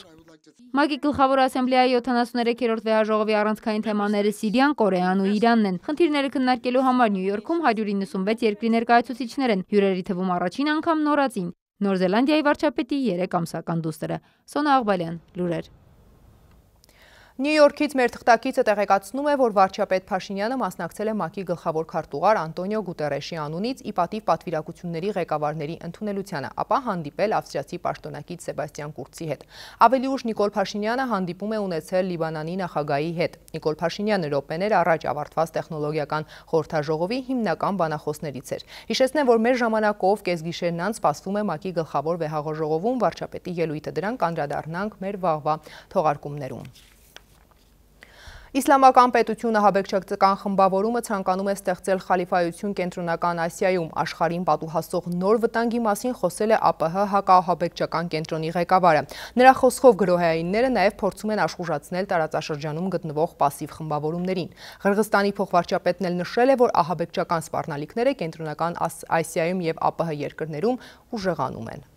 ՄԱԿ-ի գլխավոր ասամբլեայի յոթանասուներեքերորդ վեհաժողովի առանցքային թեմաները Սիրիան, Կորեան ու Իրանն են։ Խնդիրները քննարկելու համար Նյու Յորքում հարյուր իննսունվեց երկրի ներկայացուցիչներ են, հյուրերի թվում առաջին անգամ նորածին։ Նոր Զելանդիայի վարչապետի երեք ամսական դուստրը։ Սոնա Աղբալյան, լուրեր։ Նյու Յորքից մեր թղթակիցը տեղեկացնում է, որ վարչապետ Փաշինյանը մասնակցել է ՄԱԿ-ի գլխավոր քարտուղար Անտոնիո Գուտերեշի անունից ի պատիվ պատվիրակությունների ղեկավարների ընդունելությանը, ապա հանդիպել ավստրիացի պաշտոնակից Սեբաստիան Կուրցի հետ։ Ավելի ուշ Նիկոլ Փաշինյանը հանդիպում է ունեցել Լիբանանի նախագահի հետ։ Նիկոլ Փաշինյանը րոպեներ առաջ ավարտված տեխնոլոգիական խորհրդաժողովի հիմնական բանախոսներից էր։ Հիշեցնեմ, որ մեր ժամանակով կեսգիշերն անց սպասվում է ՄԱԿ-ի գլխավոր վեհաժողովում վարչապետի ելույթը, դրան կանդրադառնանք մեր վաղվա թողարկումներում։ Իսլամական պետությունը ահաբեկչական խմբավորումը ցանկանում է ստեղծել խալիֆայություն Կենտրոնական Ասիայում, աշխարհին պատուհասող նոր վտանգի մասին խոսել է ԱՊՀ հակաահաբեկչական կենտրոնի ղեկավարը։ Նրա խոսքով գրոհայինները նաև փորձում են աշխուժացնել տարածաշրջանում գտնվող պասիվ խմբավորումներին։ Ղրղստանի փոխվարչապետն էլ նշել է, որ ահաբեկչական սպառնալիքները Կենտրոնական Ասիայում եւ ԱՊՀ երկրներում ուժեղանում են։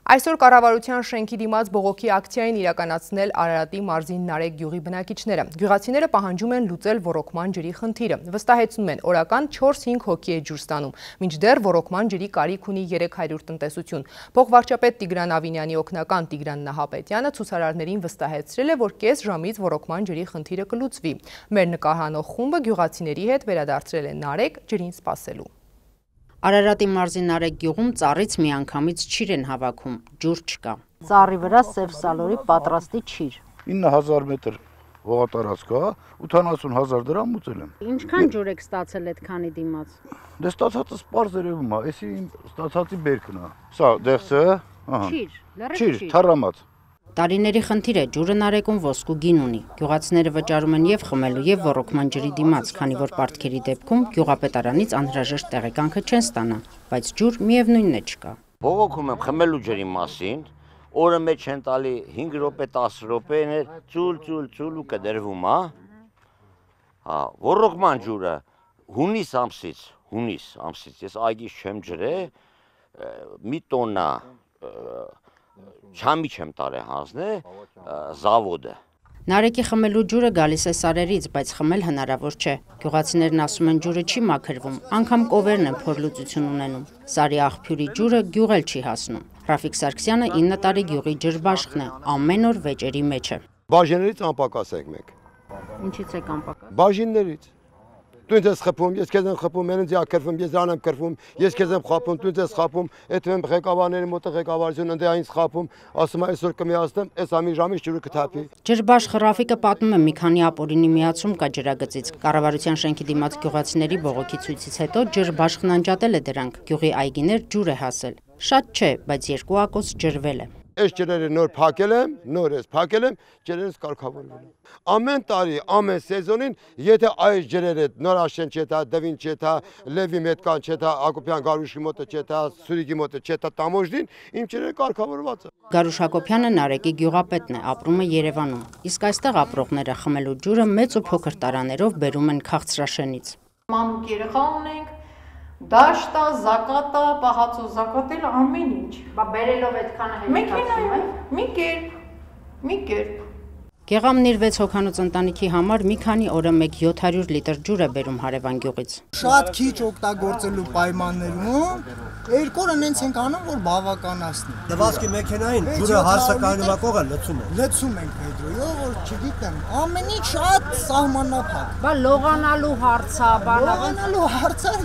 Այսօր կառավարության շենքի դիմաց բողոքի ակցիային իրականացնել Արարատի մարզին Նարեկ գյուղի բնակիչները։ Գյուղացիները պահանջում են լուծել ոռոգման ջրի խնդիրը։ Վստահեցնում են, օրական չորս-հինգ հոգի է ջուր ստանում, մինչդեռ ոռոգման ջրի կարիք ունի երեք հարյուր տնտեսություն։ Փոխվարչապետ Տիգրան Ավինյանի օգնական Տիգրան Նահապետյանը ցուցարարներին վստահեցրել է, որ կես ժամից ոռոգման ջրի խնդիրը կլուծվի։ Մեր նկարահանող խումբը գյուղացիների հետ վերադարձրել է Նարեկ ջրին սպասելու։ Արարատի մարզի Նարեկ գյուղում ծառից միանգամից չիր են հավաքում, ջուր չկա։ Ծառի վրա սև սալորի պատրաստի չիր։ ինը հազար մետր ողատարած կա, ութանասուն հազար դրամ ուծել եմ։ Ինչքան ջուր եք ստացել այդ քանի դիմաց։ Դե ստացածը սպարզ երևում է, էսի ստացածի բերքն է։ Սա դեղցը, ահա։ Չիր, լրիվ չիր, թառամած։ Տարիների խնդիր է, ջուրը Նարեկում ոսկու գին ունի։ Գյուղացիները վճարում են եւ խմելու եւ ոռոգման ջրի դիմաց, քանի որ պարտքերի դեպքում գյուղապետարանից անհրաժեշտ տեղեկանքը չեն ստանա, բայց ջուր միևնույնն է չկա։ Բողոքում եմ խմելու ջրի մասին, օրը մեջ են տալի հինգ րոպե, տասը րոպեներ, ծուլ, ծուլ, ծուլ ու կդրվում, հա։ Հա, ոռոգման ջուրը հունիս ամսից, հունիս ամսից ես այգիս չեմ ջրել, մի տոննա չամի չեմ տարե հանձնե զավոդը։ Նարեկի խմելու ջուրը գալիս է սարերից, բայց խմել հնարավոր չէ։ Գյուղացիներն ասում են ջուրը չի մաքրվում, անգամ կովերն են փորլուծություն ունենում։ Սարի աղբյուրի ջուրը գյուղ էլ չի հասնում։ Ռաֆիկ Սարգսյանը ինը տարի գյուղի ջրբաշխն է, ամեն օր վեճերի մեջ է։ Բաժիններից անպակաս ենք մենք։ Ինչից եք անպակաս։ Բաժիններից։ Դու ինձ ես խփում, ես քեզ եմ խփում, մենից յա քրվում, ես դրան եմ քրվում, ես քեզ եմ խփում, դու ինձ ես խփում, այդ եմ ղեկավարների մոտ ղեկավարություն ընդ այնց խփում, ասում է այսօր կմիացնեմ, այս ամի ժամից ջուրը կթափի։ Ջրբաշխ Ռաֆիկը պատմում է մի քանի ապօրինի միացում կա ջրագծից։ Կառավարության շենքի դիմաց գյուղացիների բողոքի ցույցից հետո ջրբաշխն անջատել է դրանք, գյուղի այգիներ ջուր է հասել։ Շատ չէ, բայց երկու ակոս ջրվել է։ Այս ջրերը նոր փակել եմ, նոր ես փակել եմ, ջրերս կարգավորվել են։ Ամեն տարի, ամեն սեզոնին, եթե այս ջրերը Նորաշեն չետա, Դվին չետա, Լևի Մետկան չետա, Ակոպյան Գարուշի մոտը չետա, Սուրիգի մոտը չետա, Տամոժդին, իմ ջրերը կարգավորված է։ Գարուշ Հակոբյանը Նարեկի գյուղապետն է, ապրում է Երևանում։ Իսկ այստեղ ապրողները խմելու ջուրը մեծ ու փոքր տարաներով բերում են Քաղցրաշենից։ Մանուկ երեխա ունենք, դաշտա, զակատա, պահածո զակատել ամեն ինչ։ Բա բերելով այդքանը հետաքրքրում է։ Մի կերպ, մի կերպ։ Գեղամն իր վեց հոգանոց ընտանիքի համար մի քանի օրը մեկ յոթ հարյուր լիտր ջուր է բերում հարևան գյուղից։ Շատ քիչ օգտագործելու պայմաններում երկու օր նենց ենք անում, որ բավականացնի։ Դվասկի մեքենային ջուրը հարսակայնու կողը լցում է։ Լցում ենք Պետրոյով, որ չգիտեմ, ամեն ինչ շատ սահմանափակ։ Բա լողանալու հարցա, բանալու հարցը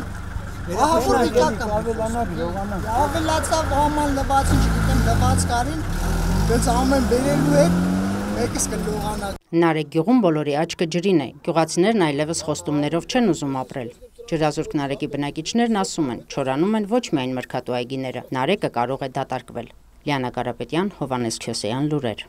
ահա որ վիճակը ավելանա, լողանա։ Ավելացավ աման լվացին, չգիտեմ, լված կարին, դից ամեն բերելու է Նարեկ գյուղում բոլորի աչքը ջրին է, գյուղացիներն այլևս խոստումներով չեն ուզում ապրել։ Ջրազուրկ Նարեկի բնակիչներն ասում են, չորանում են ոչ միայն մրգատու այգիները, Նարեկը կարող է դատարկվել։ Լիանա Կարապետյան, Հովանես Քյոսեյան, լուրեր։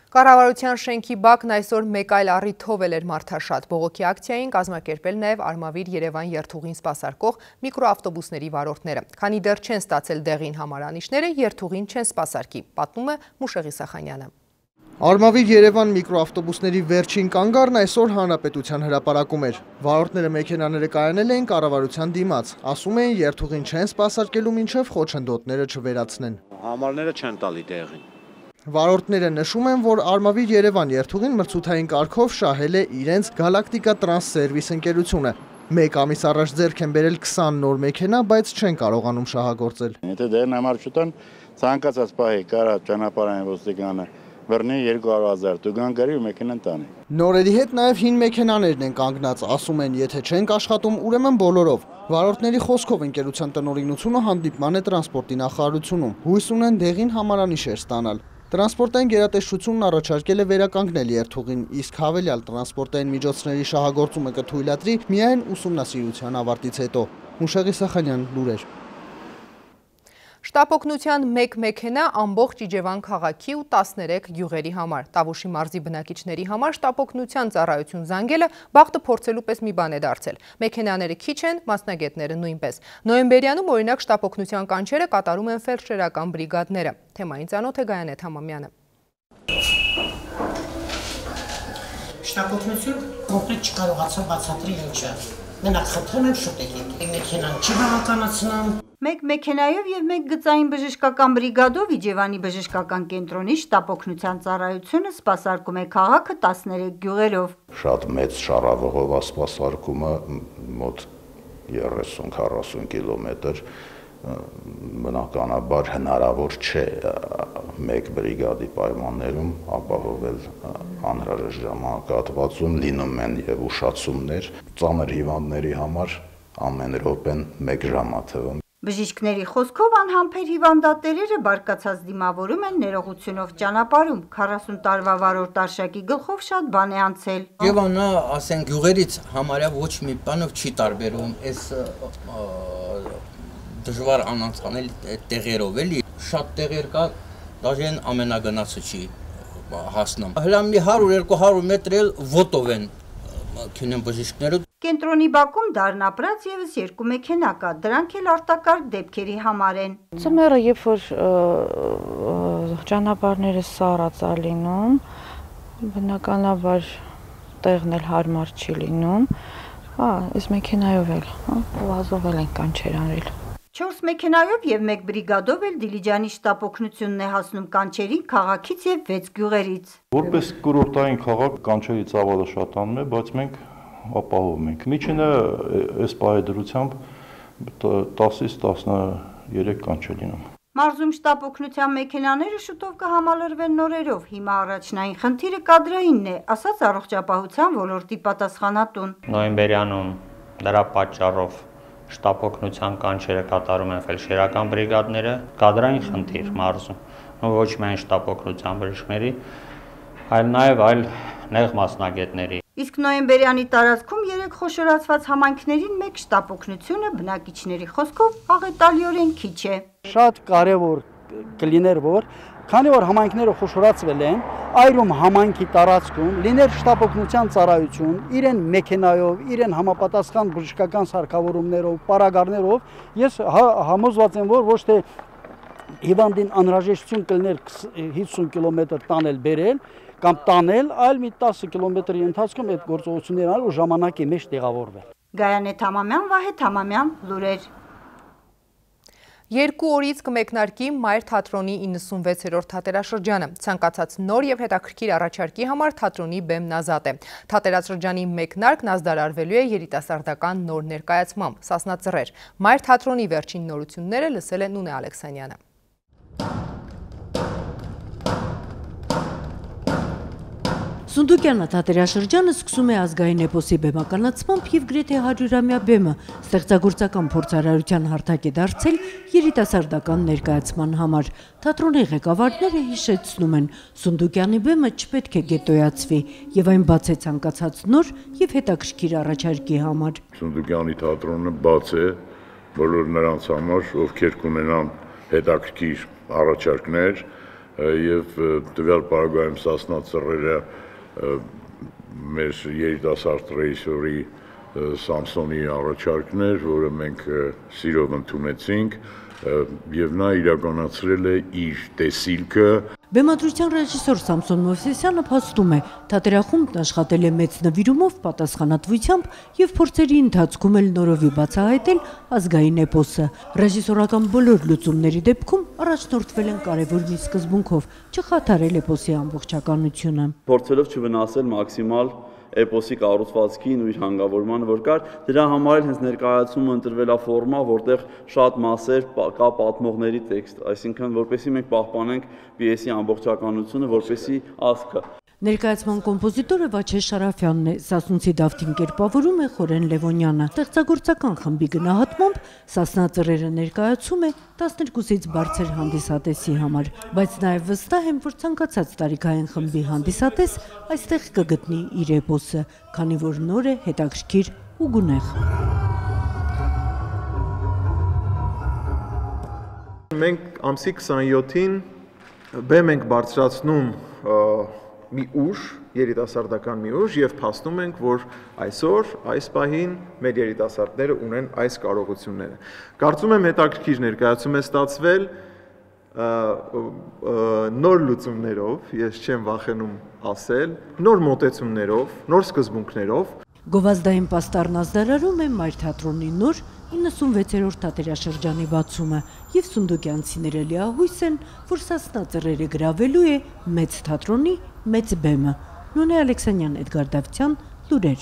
Կառավարության շենքի բակն այսօր մեկ այլ առիթով էր մարդաշատ։ Բողոքի ակցիային կազմակերպել նաև Արմավիր Երևան երթուղին սպասարկող միկրոավտոբուսների վարորդները։ Քանի դեռ չեն ստացել դեղին համարանիշները, երթուղին չեն սպասարկի, պատմում է Մուշեղի Սախանյանը։ Արմավիր Երևան միկրոավտոբուսների վերջին կանգառն այսօր Հանրապետության հրապարակում էր։ Վարորդները մեքենաները կայանել էին կառավարության դիմաց, ասում էին երթուղին չեն սպասարկելու մինչև խոչընդոտները չվերացնեն։ Համարները չեն տալի դեղին։ Վարորդները նշում են, որ Արմավիր Երևան երթուղին մրցութային կարգով շահել է իրենց Գալակտիկա Տրանս Սերվիս ընկերությունը։ Մեկ ամիս առաջ ձեռք են բերել քսան նոր մեքենա, բայց չեն կարողանում շահագործել։ Եթե դեղին համար չտան, Ցանկացած պահի կարա ճանապարհային ոստիկանը բռնի երկու հարյուր հազար տուգան գրի ու մեքենան տանի։ Նորերի հետ նաև հին մեքենաներն են կանգնած, ասում են, եթե չենք աշխատում, ուրեմն բոլորով։ Վարորդների խոսքով ընկերության տնօրինությունը հանդիպման է տրանսպորտի նախարարությունում։ Հույս ունեն դեղին համարանիշեր ստանալ։ Տրանսպորտային գերատեսչությունն առաջարկել է վերականգնել երթուղին, իսկ հավելյալ տրանսպորտային միջոցների շահագործումը կթույլատրի միայն ուսումնասիրության ավարտից հետո։ Մուշեղի Սախանյան, լուրեր։ Շտապօգնության մեկ մեքենա ամբողջ Իջևան քաղաքի ու տասներեք գյուղերի համար։ Տավուշի մարզի բնակիչների համար շտապօգնության ծառայություն զանգելը բախտը փորձելու պես մի բան է դարձել։ Մեքենաները քիչ են, մասնագետները նույնպես։ Նոյեմբերյանում օրինակ շտապօգնության կանչերը կատարում են ֆելդշերական բրիգադները։ Թեմային ծանոթ է Գայանե Թամամյանը։ Շտապօգնություն կոնկրետ չկարողացա բացատրել ինչը։ Մենակ խնդրում եմ շուտ եկեք։ Մեքենան չի բավականացնում։ Մեկ մեքենայով եւ մեկ գծային բժշկական բրիգադով Իջևանի բժշկական կենտրոնի շտապօգնության ծառայությունը սպասարկում է քաղաքը տասներեք գյուղերով։ Շատ մեծ շարավղով է սպասարկումը, մոտ երեսուն քառասուն կիլոմետր, բնականաբար հնարավոր չէ մեկ բրիգադի պայմաններում ապահովել անհրաժեշտ ժամանակահատվածում, լինում են եւ ուշացումներ, ծանր հիվանդների համար ամեն րոպեն մեկ ժամ է թվում։ Բժիշկների խոսքով անհամբեր հիվանդատերերը բարկացած դիմավորում են ներողությունով ճանապարհում, քառասուն տարվա վարորդ Արշակի գլխով շատ բան է անցել։ Եվանա, ասենք, գյուղերից համարյա ոչ մի բանով չի տարբերում, այս դժվար անանցանել տեղերով էլի, շատ տեղեր կա, դաժե ամենագնացը չի հասնում։ Հələ մի հարյուր երկու հարյուր մետր էլ ոտով են քինեն բժիշկները։ Կենտրոնի բակում դառնապրած եւս երկու մեքենա կա, դրանք էլ արտակարգ դեպքերի համար են։ Ձմեռը երբ որ ճանապարհները սառած է լինում, բնականաբար տեղն էլ հարմար չի լինում, հա, այս մեքենայով էլ, հա, վազով էլ են կանչեր արել։ Չորս մեքենայով եւ մեկ բրիգադով էլ Դիլիջանի շտապօգնությունն է հասնում կանչերին քաղաքից եւ վեց գյուղերից։ Որպես կուրորտային քաղաք կանչերի ծավալը շատանում է, բայց մենք ապահովում ենք։ Միջինը այս պահեդրությամբ տասից տասներեք կանչ է լինում։ Մարզում շտապօգնության մեքենաները շուտով կհամալրվեն նորերով։ Հիմա առաջնային խնդիրը կադրայինն է, ասաց առողջապահության ոլորտի պատասխանատուն։ Նոյեմբերյանում դրա պատճառով շտապօգնության կանչերը կատարում են ֆելդշերական բրիգադները, կադրային խնդիր մարզում, ոչ միայն շտապօգնության բժիշկների, այլ նաև այլ նեղ մասնագետների։ Իսկ նոյեմբերյանի տարածքում երեք խոշորացված համայնքներին մեկ շտապօգնությունը բնակիչների խոսքով աղետալիորեն քիչ է։ Շատ կարևոր կլիներ, որ քանի որ համայնքները խոշորացվել են, այրում համայնքի տարածքում լիներ շտապօգնության ծառայություն, իրեն մեքենայով, իրեն համապատասխան բժշկական սարքավորումներով, պարագարներով, ես համոզված եմ, որ ոչ թե հիվանդին անհրաժեշտություն կլիներ հիսուն կիլոմետր տանել բերել կամ տանել, այլ մի տասը կիլոմետրի ընթացքում այդ գործողությունները անել ու ժամանակի մեջ տեղավորվել։ Գայանե Թամամյան, Վահե Թամամյան, լուրեր։ Երկու օրից կմեկնարկի Մայր թատրոնի իննսունվեցերորդ թատերաշրջանը։ Ցանկացած նոր եւ հետաքրքիր առաջարկի համար թատրոնի բեմն ազատ է։ Թատերաշրջանի մեկնարկն ազդարարվելու է երիտասարդական նոր ներկայացմամբ՝ Սասնա Ծռեր։ Մայր թատրոնի վերջին նորությունները լսել է Նունե Ալեքսանյանը։ Սունդուկյանը թատերաշրջանը սկսում է ազգային էպոսի բեմականացմամբ և գրեթե հարյուրամյա բեմը ստեղծագործական փորձարարության հարթակ է դարձել երիտասարդական ներկայացման համար։ Թատրոնի ղեկավարները հիշեցնում են, Սունդուկյանի բեմը չպետք է գետոյացվի և այն բաց է ցանկացած նոր և հետաքրքիր առաջարկի համար։ Սունդուկյանի թատրոնը բաց է բոլոր նրանց համար, ովքեր կունենան հետաքրքիր առաջարկներ և տվյալ պարագայում Սասնա Ծռերը մեր երիտասարդ ռեժիսորի Սամսոնի առաջարկներ, որը մենք սիրով ընդունեցինք և նա իրականացրել է իր տեսիլքը։ Բեմադրության ռեժիսոր Սամսոն Մովսեսյանը փաստում է, թատերախումբն աշխատել է մեծ նվիրումով, պատասխանատվությամբ և փորձերի ընթացքում էլ նորովի բացահայտել ազգային էպոսը։ Ռեժիսորական բոլոր լուծումների դեպքում առաջնորդվել են կարևոր մի սկզբունքով՝ չխաթարել էպոսի ամբողջականությունը։ Փորձելով չվնասել մաքսիմալ էպոսի կառուցվածքին ու իր հանգավորմանը, որ կար, դրա համար էլ հենց ներկայացումը ընտրվել է ֆորմա, որտեղ շատ մասեր կա պատմողների տեքստ, այսինքն որպեսզի մենք պահպանենք պիեսի ամբողջականությունը, որպեսզի ասքը։ Ներկայացման կոմպոզիտորը Վաչե Շարաֆյանն է, Սասունցի Դավթին կերպավորում է Խորեն Լևոնյանը։ Ստեղծագործական խմբի գնահատմամբ Սասնա ծռերը ներկայացում է տասներկուսից բարձր հանդիսատեսի համար, բայց նաև վստահ եմ, որ ցանկացած տարիքային խմբի հանդիսատես այստեղ կգտնի իր էպոսը, քանի որ նոր է, հետաքրքիր ու գունեղ։ Մենք ամսի քսանյոթին բեմ ենք բարձրացնում մի ուժ, երիտասարդական մի ուժ և փաստում ենք, որ այսօր, այս պահին մեր երիտասարդները ունեն այս կարողությունները։ Կարծում եմ հետաքրքիր ներկայացում է ստացվել նոր լուծումներով, ես չեմ վախենում ասել, նոր մոտեցումներով, նոր սկզբունքներով։ Գովազդային պաստառն ազդարարում է Մայր թատրոնի նոր իննսունվեցերորդ թատերաշրջանի բացումը և սունդուկյանցիները լիահույս են, որ Սասնա ծռերը գրավելու է մեծ թատրոնի մեծ բեմը։ Նոնե Ալեքսանյան, Էդգար Դավթյան, լուրեր։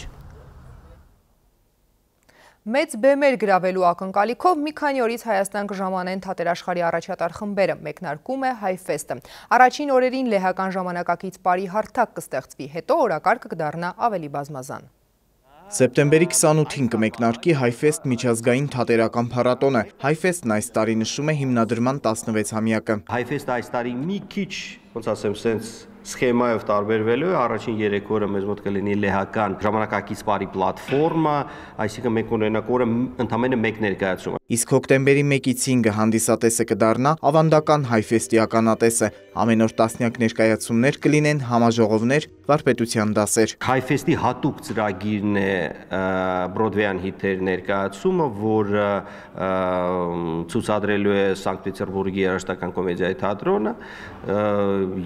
Մեծ բեմեր գրավելու ակնկալիքով մի քանի օրից Հայաստան կժամանեն թատերաշխարհի առաջատար խմբերը, մեկնարկում է Հայֆեստը։ Առաջին օրերին լեհական ժամանակակից պարի հարթակ կստեղծվի, հետո օրակարգը կդառնա ավելի բազմազան։ Սեպտեմբերի քսանութին կմեկնարկի Հայֆեստ միջազգային թատերական փառատոնը։ Հայֆեստն այս տարի նշում է հիմնադրման տասնվեցամյակը։ Հայֆեստը այս տարի մի քիչ, ոնց ասեմ, սենց սխեմայով տարբերվելու է, առաջին երեք օրը մեզ մոտ կլինի լեհական ժամանակակից պարի պլատֆորմա, այսինքն մենք ունենանք օրը ընդամենը մեկ ներկայացում։ Իսկ հոկտեմբերի մեկից հինգը հանդիսատեսը կդառնա ավանդական Հայֆեստի ականատեսը։ Ամեն օր տասնյակ ներկայացումներ կլինեն, համաժողովներ, վարպետության դասեր։ Հայֆեստի հատուկ ծրագիրն է Բրոդվեյան հիթեր ներկայացումը, որ ցուցադրելու է Սանկտ Պետերբուրգի երաժշտական կոմեդիայի թատրոնը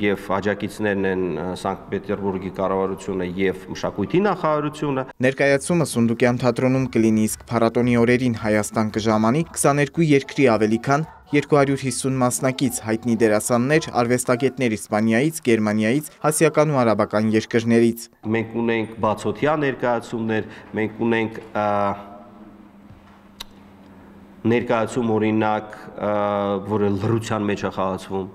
եւ աջակիցներն են Սանկտ Պետերբուրգի կառավարությունը եւ մշակույթի նախարարությունը։ Ներկայացումը Սունդուկյան թատրոնում կլինի, իսկ փառատոնի օրերին Հայաստան կժամանի քսաներկու երկրի ավելի քան երկու հարյուր հիսուն մասնակից, հայտնի դերասաններ, արվեստագետներ Իսպանիայից, Գերմանիայից, ասիական ու արաբական երկրներից։ Մենք ունենք բացօթյա ներկայացումներ, մենք ունենք ներկայացում օրինակ, որը լռության մեջ է խաղացվում։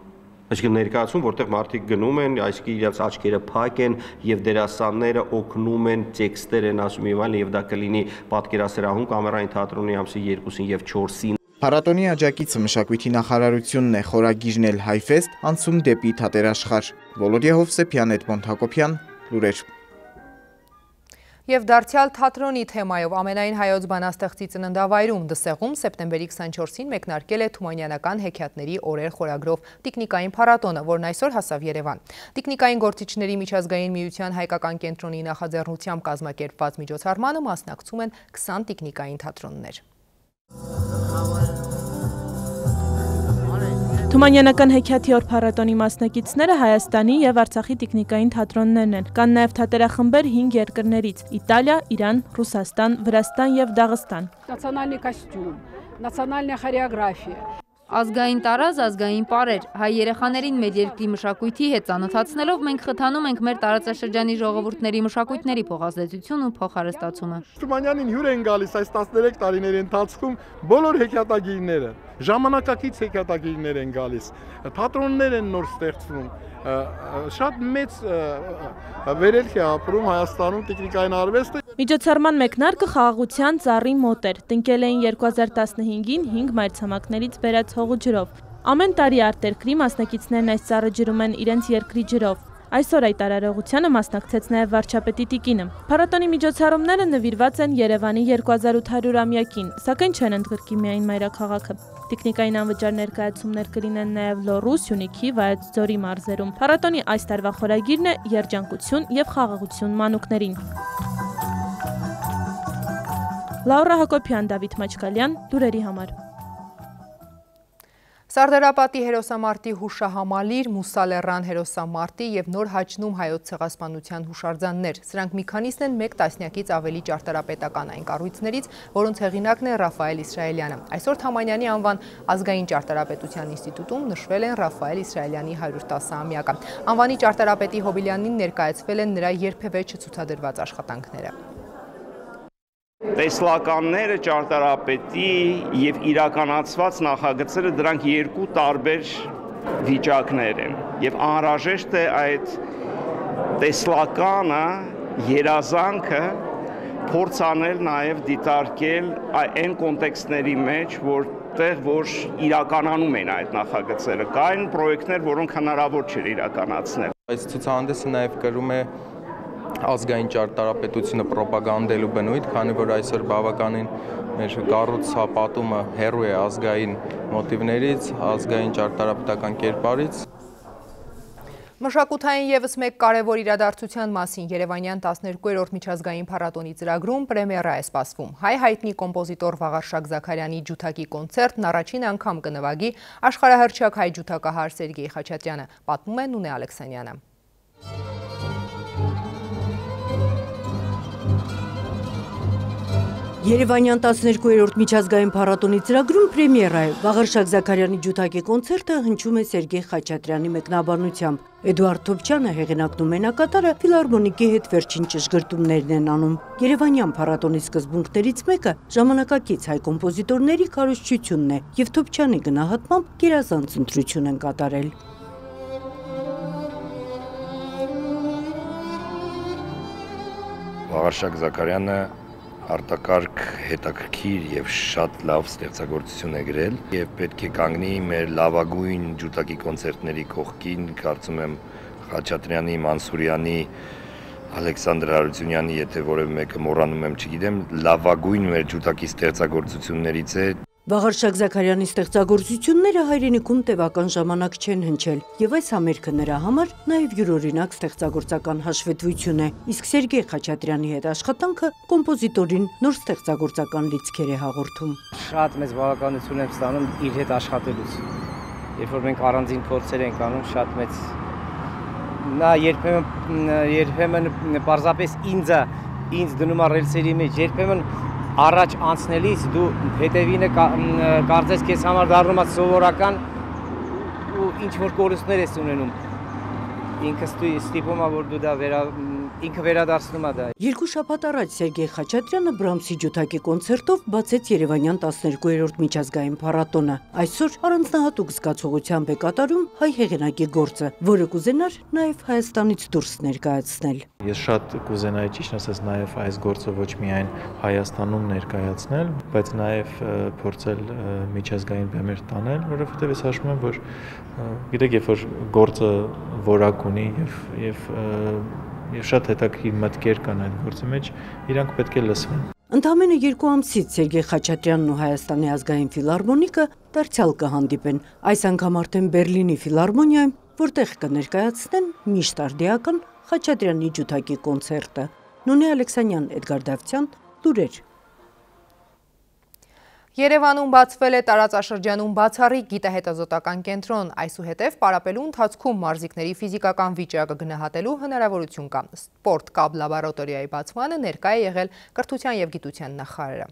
Այսինքն ներկայացում, որտեղ մարդիկ գնում են, այսինքն իրենց աչքերը փակ են եւ դերասանները օգնում են, տեքստեր են ասում եւ այլն, եւ դա կլինի պատկերասրահում կամերային թատրոնի ամսի երկուսին եւ չորսին։ Փառատոնի աջակիցը մշակույթի նախարարությունն է, խորագիրն էլ Հայֆեստ, անցում դեպի թատերաշխարհ։ Վոլոդիա Հովսեփյան, Էդմոնդ Հակոբյան, լուրեր։ Եվ դարձյալ թատրոնի թեմայով ամենայն հայոց բանաստեղծի ծննդավայրում Դսեղում սեպտեմբերի քսանչորսին մեկնարկել է Թումանյանական հեքիաթների օրեր խորագրով տիկնիկային փառատոնը, որն այսօր հասավ Երևան։ Տիկնիկային գործիչների միջազգային միության հայկական կենտրոնի նախաձեռնությամբ կազմակերպված միջոցառմանը մասնակցում են քսան տիկնիկային թատրոններ։ Թումանյանական հեքիաթի օր փառատոնի մասնակիցները Հայաստանի եւ Արցախի տիկնիկային թատրոններն են։ Կան նաեւ թատերախմբեր հինգ երկրներից՝ Իտալիա, Իրան, Ռուսաստան, Վրաստան եւ Դաղստան։ Национальный костюм, национальная хореография։ Ազգային տարազ, ազգային պարեր, հայ երեխաներին մեր երկրի մշակույթի հետ ծանոթացնելով մենք խթանում ենք մեր տարածաշրջանի ժողովուրդների մշակույթների փոխազդեցություն ու փոխհարստացումը։ Թումանյանին հյուր են գալիս այս տասներեք տարիների ընթացքում բոլոր հեքիաթագիրները, ժամանակակից հեքիաթագիրներ են գալիս, թատրոններ են նոր ստեղծվում, շատ մեծ վերելք է ապրում Հայաստանում տիկնիկային արվեստը։ Միջոցառման մեկնարկը խաղաղության ծառի մոտ էր, տնկել էին երկու հազար տասնհինգին հինգ մայրցամաքներից բերած հողու ջրով։ Ամեն տարի արտերկրի մասնակիցներն այս ծառը ջրում են իրենց երկրի ջրով։ Այսօր այդ արարողությանը մասնակցեց նաև վարչապետի տիկինը։ Փառատոնի միջոցառումները նվիրված են Երևանի երկու հազար ութ հարյուրամյակին, սակայն չեն ընդգրկի միայն մայրաքաղաքը։ Տիկնիկային անվճար ներկայացումներ կլինեն նաև Լոռու, Սյունիքի, Վայոց ձորի մարզերում։ Փառատոնի այս տարվա խորագիրն է երջանկություն եւ խաղաղություն մանուկներին։ Լաուրա Հակոբյան, Դավիթ Մաչկալյան, լուրերի համար։ Սարդարապատի հերոսամարտի հուշահամալիր, Մուսալեռան հերոսամարտի և նոր հաճնում հայոց ցեղասպանության հուշարձաններ։ Սրանք մի քանիսն են մեկ տասնյակից ավելի ճարտարապետական այն կառույցներից, որոնց հեղինակն է Ռաֆայել Իսրայելյանը։ Այսօր Թամանյանի անվան ազգային ճարտարապետության ինստիտուտում նշվել են Ռաֆայել Իսրայելյանի հարյուր տասը-ամյակը։ Անվանի ճարտարապետի հոբելյանին ներկայացվել են նրա երբևէ չցուցադրված աշխատանքները։ Տեսլականները ճարտարապետի և իրականացված նախագծերը դրանք երկու տարբեր վիճակներ են և անհրաժեշտ է այդ տեսլականը, երազանքը փորձ անել նաև դիտարկել այն կոնտեքստների մեջ, որտեղ որ իրականանում են այդ նախագծերը, կային պրոյեկտներ, որոնք հնարավոր չէր իրականացնել։ Այս ցուցահանդեսը նաև կրում է ազգային ճարտարապետությունը պրոպագանդելու բնույթ, քանի որ այսօր բավականին մեր կառուցապատումը հեռու է ազգային մոտիվներից, ազգային ճարտարապետական կերպարից։ Մշակութային ևս մեկ կարևոր իրադարձության մասին Երևանյան տասներկուերորդ միջազգային փառատոնի ծրագրում պրեմիերա է սպասվում։ Հայ հայտնի կոմպոզիտոր Վաղարշակ Զաքարյանի ջութակի կոնցերտն առաջին անգամ կնվագի աշխարհահռչակ հայ ջութակահար Սերգեյ Խաչատրյանը, պատմում է Նունե Ալեքսանյանը։ Երևանյան տասներկուերորդ միջազգային փառատոնի ծրագրում պրեմիերա է։ Վաղարշակ Զաքարյանի ջութակի կոնցերտը հնչում է Սերգեյ Խաչատրյանի մեկնաբանությամբ։ Էդուարդ Թոփչյանը հեղինակն ու մենակատարը ֆիլհարմոնիկի հետ վերջին ճշգրտումներն են անում։ Երևանյան փառատոնի սկզբունքներից մեկը ժամանակակից հայ կոմպոզիտորների քարոզչությունն է, եւ Թոփչյանի գնահատմամբ գերազանց ընտրություն են կատարել։ Վաղարշակ Զաքարյանը արտակարգ հետաքրքիր եւ շատ լավ ստեղծագործություն է գրել եւ պետք է կանգնի մեր լավագույն ջութակի կոնցերտների կողքին, կարծում եմ Խաչատրյանի, Մանսուրյանի, Ալեքսանդր Հարությունյանի, եթե որևէ մեկը մոռանում եմ, չգիտեմ, լավագույն մեր ջութակի ստեղծագործություններից է։ Վաղարշակ Զաքարյանի ստեղծագործությունները հայրենիքում տևական ժամանակ չեն հնչել, եւ այս համերգը նրա համար նաեւ յուրօրինակ ստեղծագործական հաշվետվություն է, իսկ Սերգեյ Խաչատրյանի հետ աշխատանքը կոմպոզիտորին նոր ստեղծագործական լիցքեր է հաղորդում։ Շատ մեծ բավականություն եմ ստանում իր հետ աշխատելուց։ Երբ որ մենք առանձին փորձեր ենք անում, շատ մեծ նա երբեմն երբեմն պարզապես ինձ ինձ դնում է ռելսերի մեջ, երբեմն առաջ անցնելիս դու հետևինը կարծես քեզ համար դառնում է սովորական ու ինչ որ կորուստներ ես ունենում։ Ինքը ստիպում է, որ դու դա վերա ինքը վերադարձնում է դա։ Երկու շաբաթ առաջ Սերգեյ Խաչատրյանը Բրամսի ջութակի կոնցերտով բացեց Երևանյան տասներկուերորդ միջազգային փառատոնը։ Այսօր առանձնահատուկ զգացողությամբ է կատարում հայ հեղինակի գործը, որը կուզենար նաև Հայաստանից դուրս ներկայացնել։ Ես շատ կուզենայի ճիշտ ասած նաև այս գործը ոչ միայն Հայաստանում ներկայացնել, բայց նաև փորձել միջազգային բեմեր տանել, որովհետև ես հաշվում եմ, որ գիտեք, երբ որ գործը որակ ունի եւ եւ եւ շատ հետաքրքիր մտքեր կան այդ գործի մեջ, իրանք պետք է լսվեն։ Ընդամենը երկու ամսից Սերգեյ Խաչատրյանն ու Հայաստանի ազգային ֆիլհարմոնիկը դարձյալ կհանդիպեն, այս անգամ արդեն Բերլինի ֆիլհարմոնիայում, որտեղ կներկայացնեն միշտարդիական Խաչատրյանի ջութակի կոնցերտը։ Նունե Ալեքսանյան, Էդգար Դավթյան, լուրեր։ Երևանում բացվել է տարածաշրջանում բացառիկ գիտահետազոտական կենտրոն, այսուհետև պարապելու ընթացքում մարզիկների ֆիզիկական վիճակը գնահատելու հնարավորություն կա։ Սպորտ կապ լաբորատորիայի բացմանը ներկա է եղել կրթության և գիտության նախարարը։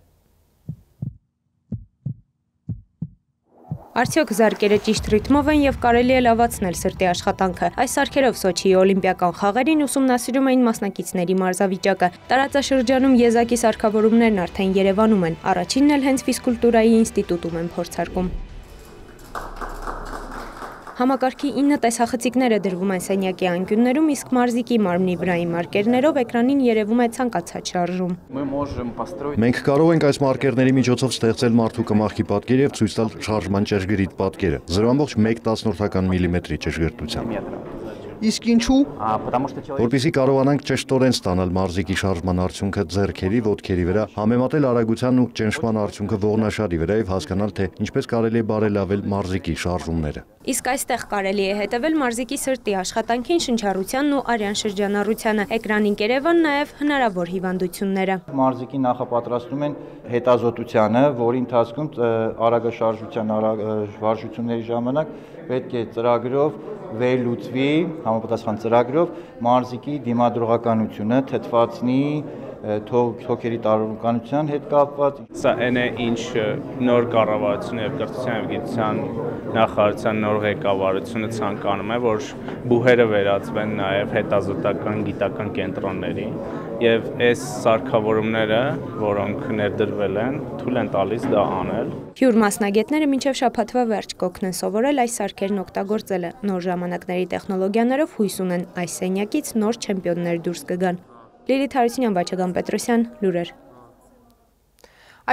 Արդյոք զարկերը ճիշտ ռիթմով են և կարելի է լավացնել սրտի աշխատանքը։ Այս սարքերով Սոչիի օլիմպիական խաղերին ուսումնասիրում էին մասնակիցների մարզավիճակը։ Տարածաշրջանում եզակի սարքավորումներն արդեն Երևանում են։ Առաջինն էլ հենց ֆիզկուլտուրայի ինստիտուտում են փորձարկում։ Համակարգի ինը տեսախցիկները դրվում են սենյակի անկյուններում, իսկ մարզիկի մարմնի վրայի մարկերներով էկրանին երևում է ցանկացած շարժում։ Մենք կարող ենք այս մարկերների միջոցով ստեղծել մարդու կմախքի պատկեր եւ ցույց տալ շարժման ճշգրիտ պատկերը, զրո կόμ մեկ տասնորդական միլիմետրի ճշգրտությամբ։ Իսկ ինչու՞։ Որպեսզի կարողանանք ճշտորեն ստանալ մարզիկի շարժման արդյունքը ձեռքերի, ոտքերի վրա, համեմատել արագության ու ճնշման արդյունքը ողնաշարի վրա եւ հասկանալ, թե ինչպես կարելի է բարելավել մարզիկի շարժումները։ Իսկ այստեղ կարելի է հետևել մարզիկի սրտի աշխատանքին, շնչառությանն ու արյան շրջանառությանը, էկրանին կերևան նաև հնարավոր հիվանդությունները։ Մարզիկի նախապատրաստում են հետազոտությանը, որի ընթացքում արագաշարժության վարժությունների ժամանակ պետք է ծրագրով վերլուծվի, համապատասխան ծրագրով մարզիկի դիմադրողականությունը, թթվածնի, թոքերի տարողականության հետ կապված։ Սա այն է, ինչ նոր կառավարությունը եւ կրթության եւ գիտության նախարարության նոր ղեկավարությունը ցանկանում է, որ բուհերը վերածվեն նաեւ հետազոտական գիտական կենտրոնների եւ այս սարքավորումները, որոնք ներդրվել են, թույլ են տալիս դա անել։ Հյուր մասնագետները մինչև շաբաթվա վերջ կօգնեն սովորել այս սարքերն օգտագործելը։ Նոր ժամանակների տեխնոլոգիաներով հույս ունեն այս սենյակից նոր չեմպիոններ դուրս կգան։ Լիլիթ Հարությունյան, Վաչագան Պետրոսյան, լուրեր։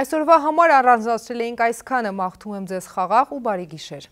Այսօրվա համար առանձնացրել էինք այսքանը, մաղթում եմ ձեզ խաղաղ ու բարի գիշեր։